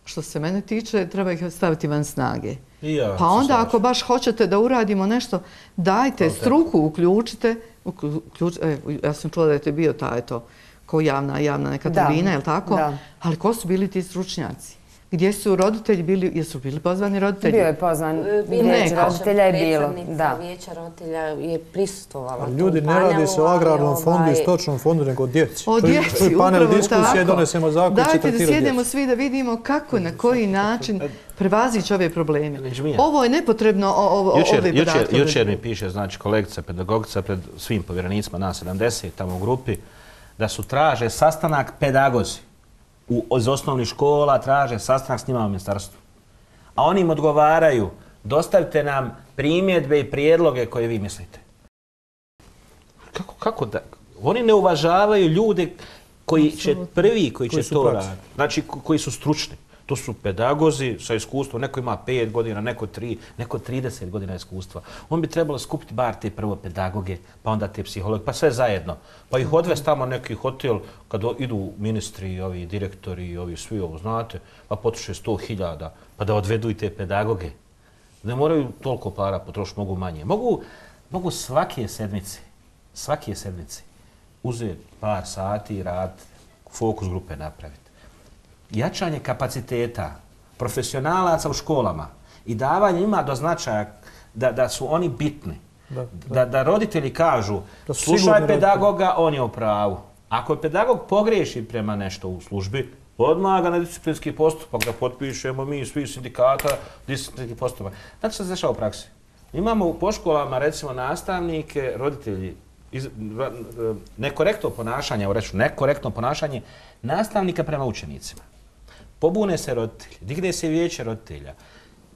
Što se mene tiče, treba ih staviti van snage. Ja, pa onda ako baš hoćete da uradimo nešto, dajte struku, uključite. Uključ, e, ja sam čula da je to bio taj to, ko javna, javna neka tribina, je li tako? Da. Ali ko su bili ti stručnjaci? Gdje su roditelji bili, jesu bili pozvani roditelji? Bio je pozvan, vijeće roditelja je bilo. Predstavnica vijeća roditelja je prisustvovala. Ljudi, ne radi se o agrarnom fondu i stočnom fondu, nego o djeci. O djeci, panel upravo diskusije, tako. Donesemo zakon, dajte da sjedemo svi da vidimo kako, na koji način prevazići ove probleme. Ovo je nepotrebno ove podatke. Jučer mi piše, znači, kolegica, pedagogica pred svim povjerenicima, nas sedamdeset tamo u grupi, da su traže sastanak pedagozi. U, iz osnovnih škola traže sastanak s njima u ministarstvu. A oni im odgovaraju, dostavite nam primjedbe i prijedloge koje vi mislite. Kako, kako da? Oni ne uvažavaju ljude koji će prvi, koji, koji će to raditi. Znači, koji su stručni. To su pedagozi sa iskustvom. Neko ima pet godina, neko tri, neko trideset godina iskustva. On bi trebalo skupiti bar te prvo pedagoge, pa onda te psihologe, pa sve zajedno. Pa ih odvesti tamo neki hotel, kad idu ministri, ovi direktori, ovi svi ovo, znate, pa potroše sto hiljada, pa da odvedu i te pedagoge. Ne moraju toliko para potrošiti, mogu manje. Mogu, mogu svake sedmice, svake sedmice uzeti par sati i rad, fokus grupe napraviti. Jačanje kapaciteta profesionalaca u školama i davanje ima do značaja da, da su oni bitni. Da, da. Da, da roditelji kažu, da slušaj pedagoga, on je u pravu. Ako je pedagog pogriješi prema nešto u službi, odmah ga na disciplinski postupak da potpišemo mi svi sindikata disciplinski postupak. Znači što se dešava u praksi? Imamo po školama recimo nastavnike, roditelji, iz, nekorektno ponašanje, evo reću, nekorektno ponašanje nastavnika prema učenicima. Pobune se roditelji, digne se vijeće roditelja.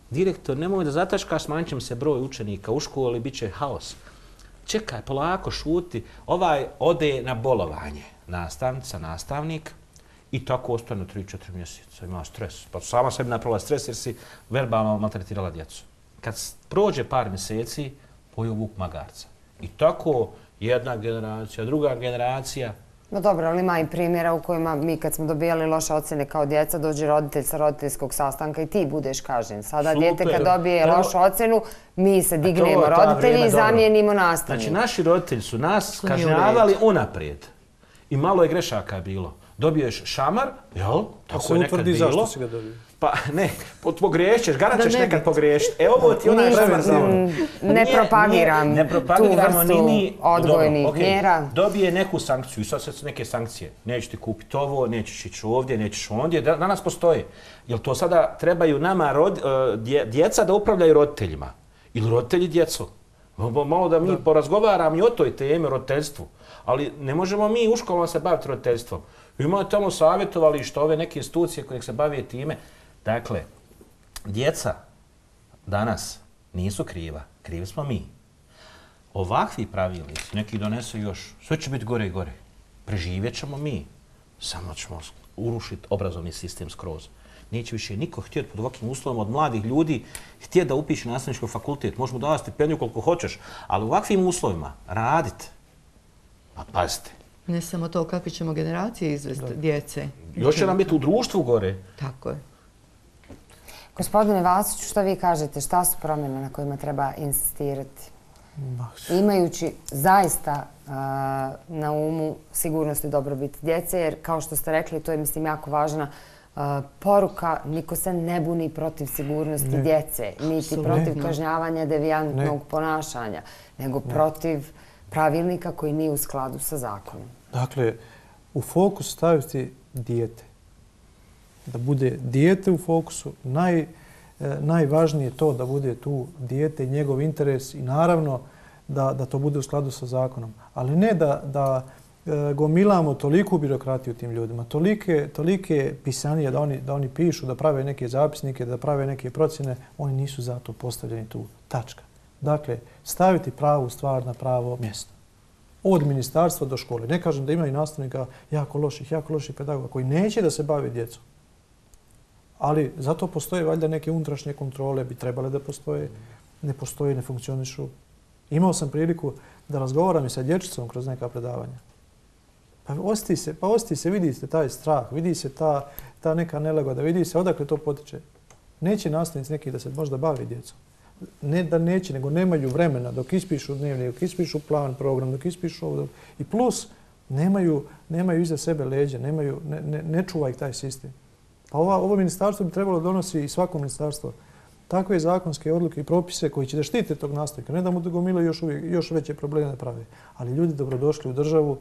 Direktor, nemoj da zataškaš, smanjit će se broj učenika u školi, bit će haos. Čekaj, polako, šuti. Ovaj ode na bolovanje, nastavnica, nastavnik, I tako ostane tri četiri mjeseca, ima stres. Pa sama sebi napravila stres jer si verbalno maltretirala djecu. Kad prođe par mjeseci, pojeo vuk magarca. I tako jedna generacija, druga generacija. No dobro, ali ima i primjera u kojima mi kad smo dobijali loše ocjene kao djeca, dođe roditelj sa roditeljskog sastanka i ti budeš kažnjen. Sada dijete kad dobije lošu ocjenu, mi se dignemo roditelji i zamijenimo nastavnika. Znači, naši roditelji su nas kažnjavali unaprijed. I malo je grešaka bilo. Dobiješ šamar, jel? Tako je nekad bilo. Zašto si ga dobio? Pa ne, pogriješćeš, garant ćeš nekad pogriješiti. Evo ovo ti onaj preventivno. Ne propagiram tu vrstu odgojnih mjera. Dobije neku sankciju i sad su neke sankcije. Nećeš ti kupiti ovo, nećeš ići ovdje, nećeš ondje. Danas postoje. Jel to sada trebaju nama djeca da upravljaju roditeljima? Ili roditelji djecu? Malo da mi porazgovaram i o toj temi, roditeljstvu. Ali ne možemo mi u školama se baviti roditeljstvom. Imamo tamo savjetovalište, ove neke institucije koje se bave time. Dakle, djeca danas nisu kriva, krivi smo mi. Ovakvi pravilnici, neki donesu još, sve će biti gore i gore. Preživjet ćemo mi, samo ćemo urušiti obrazovni sistem skroz. Neće više niko htjeti pod ovakvim uslovima od mladih ljudi htjeti da upiše nastavnički fakultet. Možemo davati stipendiju koliko hoćeš, ali u ovakvim uslovima raditi, pa pazite. Ne samo to, kakve ćemo generacije izvesti djece. Još će nam biti u društvu gore. Tako je. Gospodine Vasiću, što vi kažete? Šta su promjene na kojima treba insistirati? Imajući zaista na umu sigurnost i dobrobit djece, jer kao što ste rekli, to je mislim jako važna poruka, niko se ne buni protiv sigurnosti djece, niti protiv kažnjavanja devijantnog ponašanja, nego protiv pravilnika koji nije u skladu sa zakonom. Dakle, u fokus staviti dijete. Da bude dijete u fokusu, naj, najvažnije je to da bude tu dijete i njegov interes i naravno da, da to bude u skladu sa zakonom. Ali ne da, da e, gomilamo toliku birokratiju tim ljudima, tolike, tolike pisanije da oni, da oni pišu, da prave neke zapisnike, da prave neke procjene, oni nisu za to postavljeni tu. Tačka. Dakle, staviti pravu stvar na pravo mjesto. Od ministarstva do škole. Ne kažem da ima i nastavnika jako loših, jako loših pedagoga koji neće da se bavi djecom. Ali zato postoje valjda neke unutrašnje kontrole, bi trebale da postoje, ne postoje, ne funkcionišu. Imao sam priliku da razgovaram i sa dječicom kroz neka predavanja. Pa osti se, pa osti se, vidi se taj strah, vidi se ta, ta neka nelagoda, vidi se odakle to potiče. Neće nastavnici neki da se možda bavi djecom. Ne da neće, nego nemaju vremena dok ispišu dnevnik, dok ispišu plan, program, dok ispišu ovo. I plus, nemaju, nemaju iza sebe leđe, nemaju, ne, ne, ne čuva ih taj sistem. Pa ova, ovo ministarstvo bi trebalo donosi i svako ministarstvo takve zakonske odluke i propise koji će da štite tog nastavnika. Ne da mu gomilaju još, još veće probleme da prave. Ali ljudi dobrodošli u državu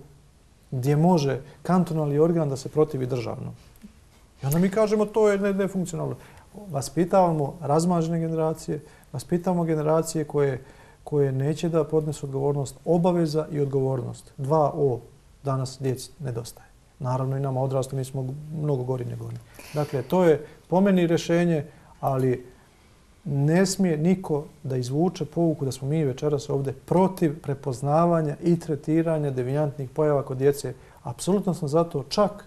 gdje može kantonalni organ da se protivi državnom. I onda mi kažemo to je nefunkcionalno. Vaspitavamo razmažene generacije, vaspitavamo generacije koje, koje neće da podnesu odgovornost, obaveza i odgovornost. Dva O danas djeci nedostaje. Naravno i nama odrastu, mi smo mnogo gori nego oni. Dakle, to je po meni rješenje, ali ne smije niko da izvuče pouku da smo mi večeras ovdje protiv prepoznavanja i tretiranja devijantnih pojava kod djece. Apsolutno sam zato čak,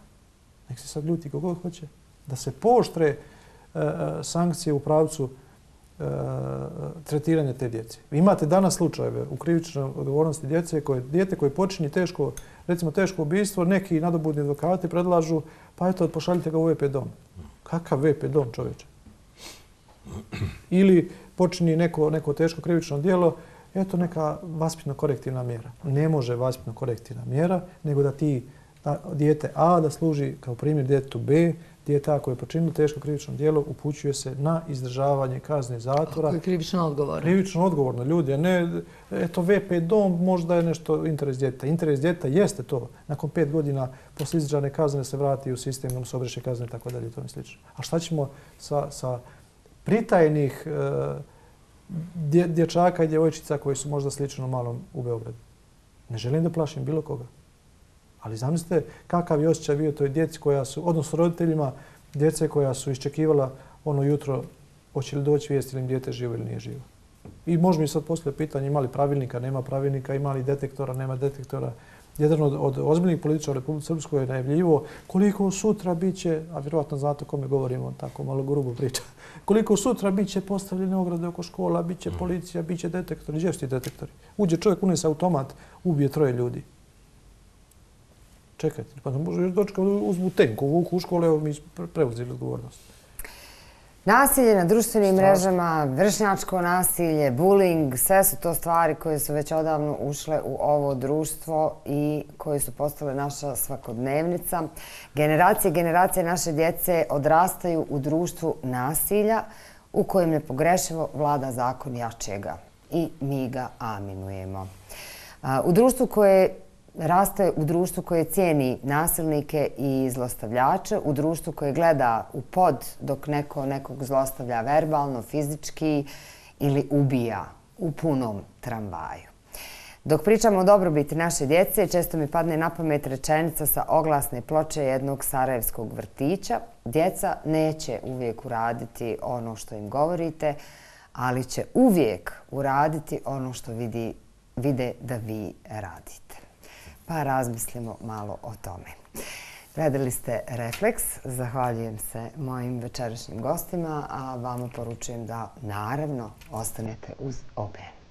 nek se sad ljuti kogod hoće, da se pooštre e, sankcije u pravcu e, tretiranja te djece. Vi imate danas slučajeve u krivičnoj odgovornosti djece koje dijete koje počini teško, recimo teško ubijstvo, neki nadobudni advokati predlažu, pa eto, pošaljite ga u V P dom. Kakav V P dom, čovječe? Ili počini neko, neko teško krivično djelo, eto neka vaspitno-korektivna mjera. Ne može vaspitno-korektivna mjera, nego da ti da, dijete A da služi kao primjer djetetu B, dijete A koje je počinilo teško krivično djelo upućuje se na izdržavanje kazne zatvora. Ako je krivično odgovorno. Krivično odgovorno, ljudi. A ne, eto, V P dom možda je nešto interes djeteta. Interes djeteta jeste to. Nakon pet godina posle izdržane kazne se vrati u sistem, nam se obreše kazne i tako dalje i tome slično. A šta ćemo sa, sa pritajnih e, dje, dječaka i djevojčica koji su možda slično malom u Beogradu? Ne želim da plašim bilo koga. Ali zamislite kakav je osjećaj bio toj djeci koja su, odnosno roditeljima djece koja su iščekivala ono jutro hoće li doći vijest ili im dijete živo ili nije živo. I može mi sad poslije pitanje ima li pravilnika, nema pravilnika, ima li detektora, nema detektora. jedan od, od ozbiljnih političara u Republike Srpskoj je najavljivo koliko sutra biće, a vjerovatno znate o kome govorimo, tako malo grubo priča, koliko sutra biće postavljene ograde oko škola, biće policija, biće detektori. Gdje su ti detektori? Uđe čovjek, unese automat, ubije troje ljudi. Čekajte, pa ne može još dočekati, uzmu tenku, vuku u škole, evo mi preuzeli odgovornost. Nasilje na društvenim mrežama, vršnjačko nasilje, bullying, sve su to stvari koje su već odavno ušle u ovo društvo i koje su postale naša svakodnevnica. Generacije i generacije naše djece odrastaju u društvu nasilja u kojem nepogrešivo vlada zakon jačega i mi ga aminujemo. U društvu koje raste u društvu koje cijeni nasilnike i zlostavljače, u društvu koje gleda u pod dok neko nekog zlostavlja verbalno, fizički ili ubija u punom tramvaju. Dok pričamo o dobrobiti naše djece, često mi padne na pamet rečenica sa oglasne ploče jednog sarajevskog vrtića. Djeca neće uvijek uraditi ono što im govorite, ali će uvijek uraditi ono što vidi, vide da vi radite. Pa razmislimo malo o tome. Gledali ste Refleks. Zahvaljujem se mojim večerašnjim gostima, a vama poručujem da naravno ostanete uz O B N.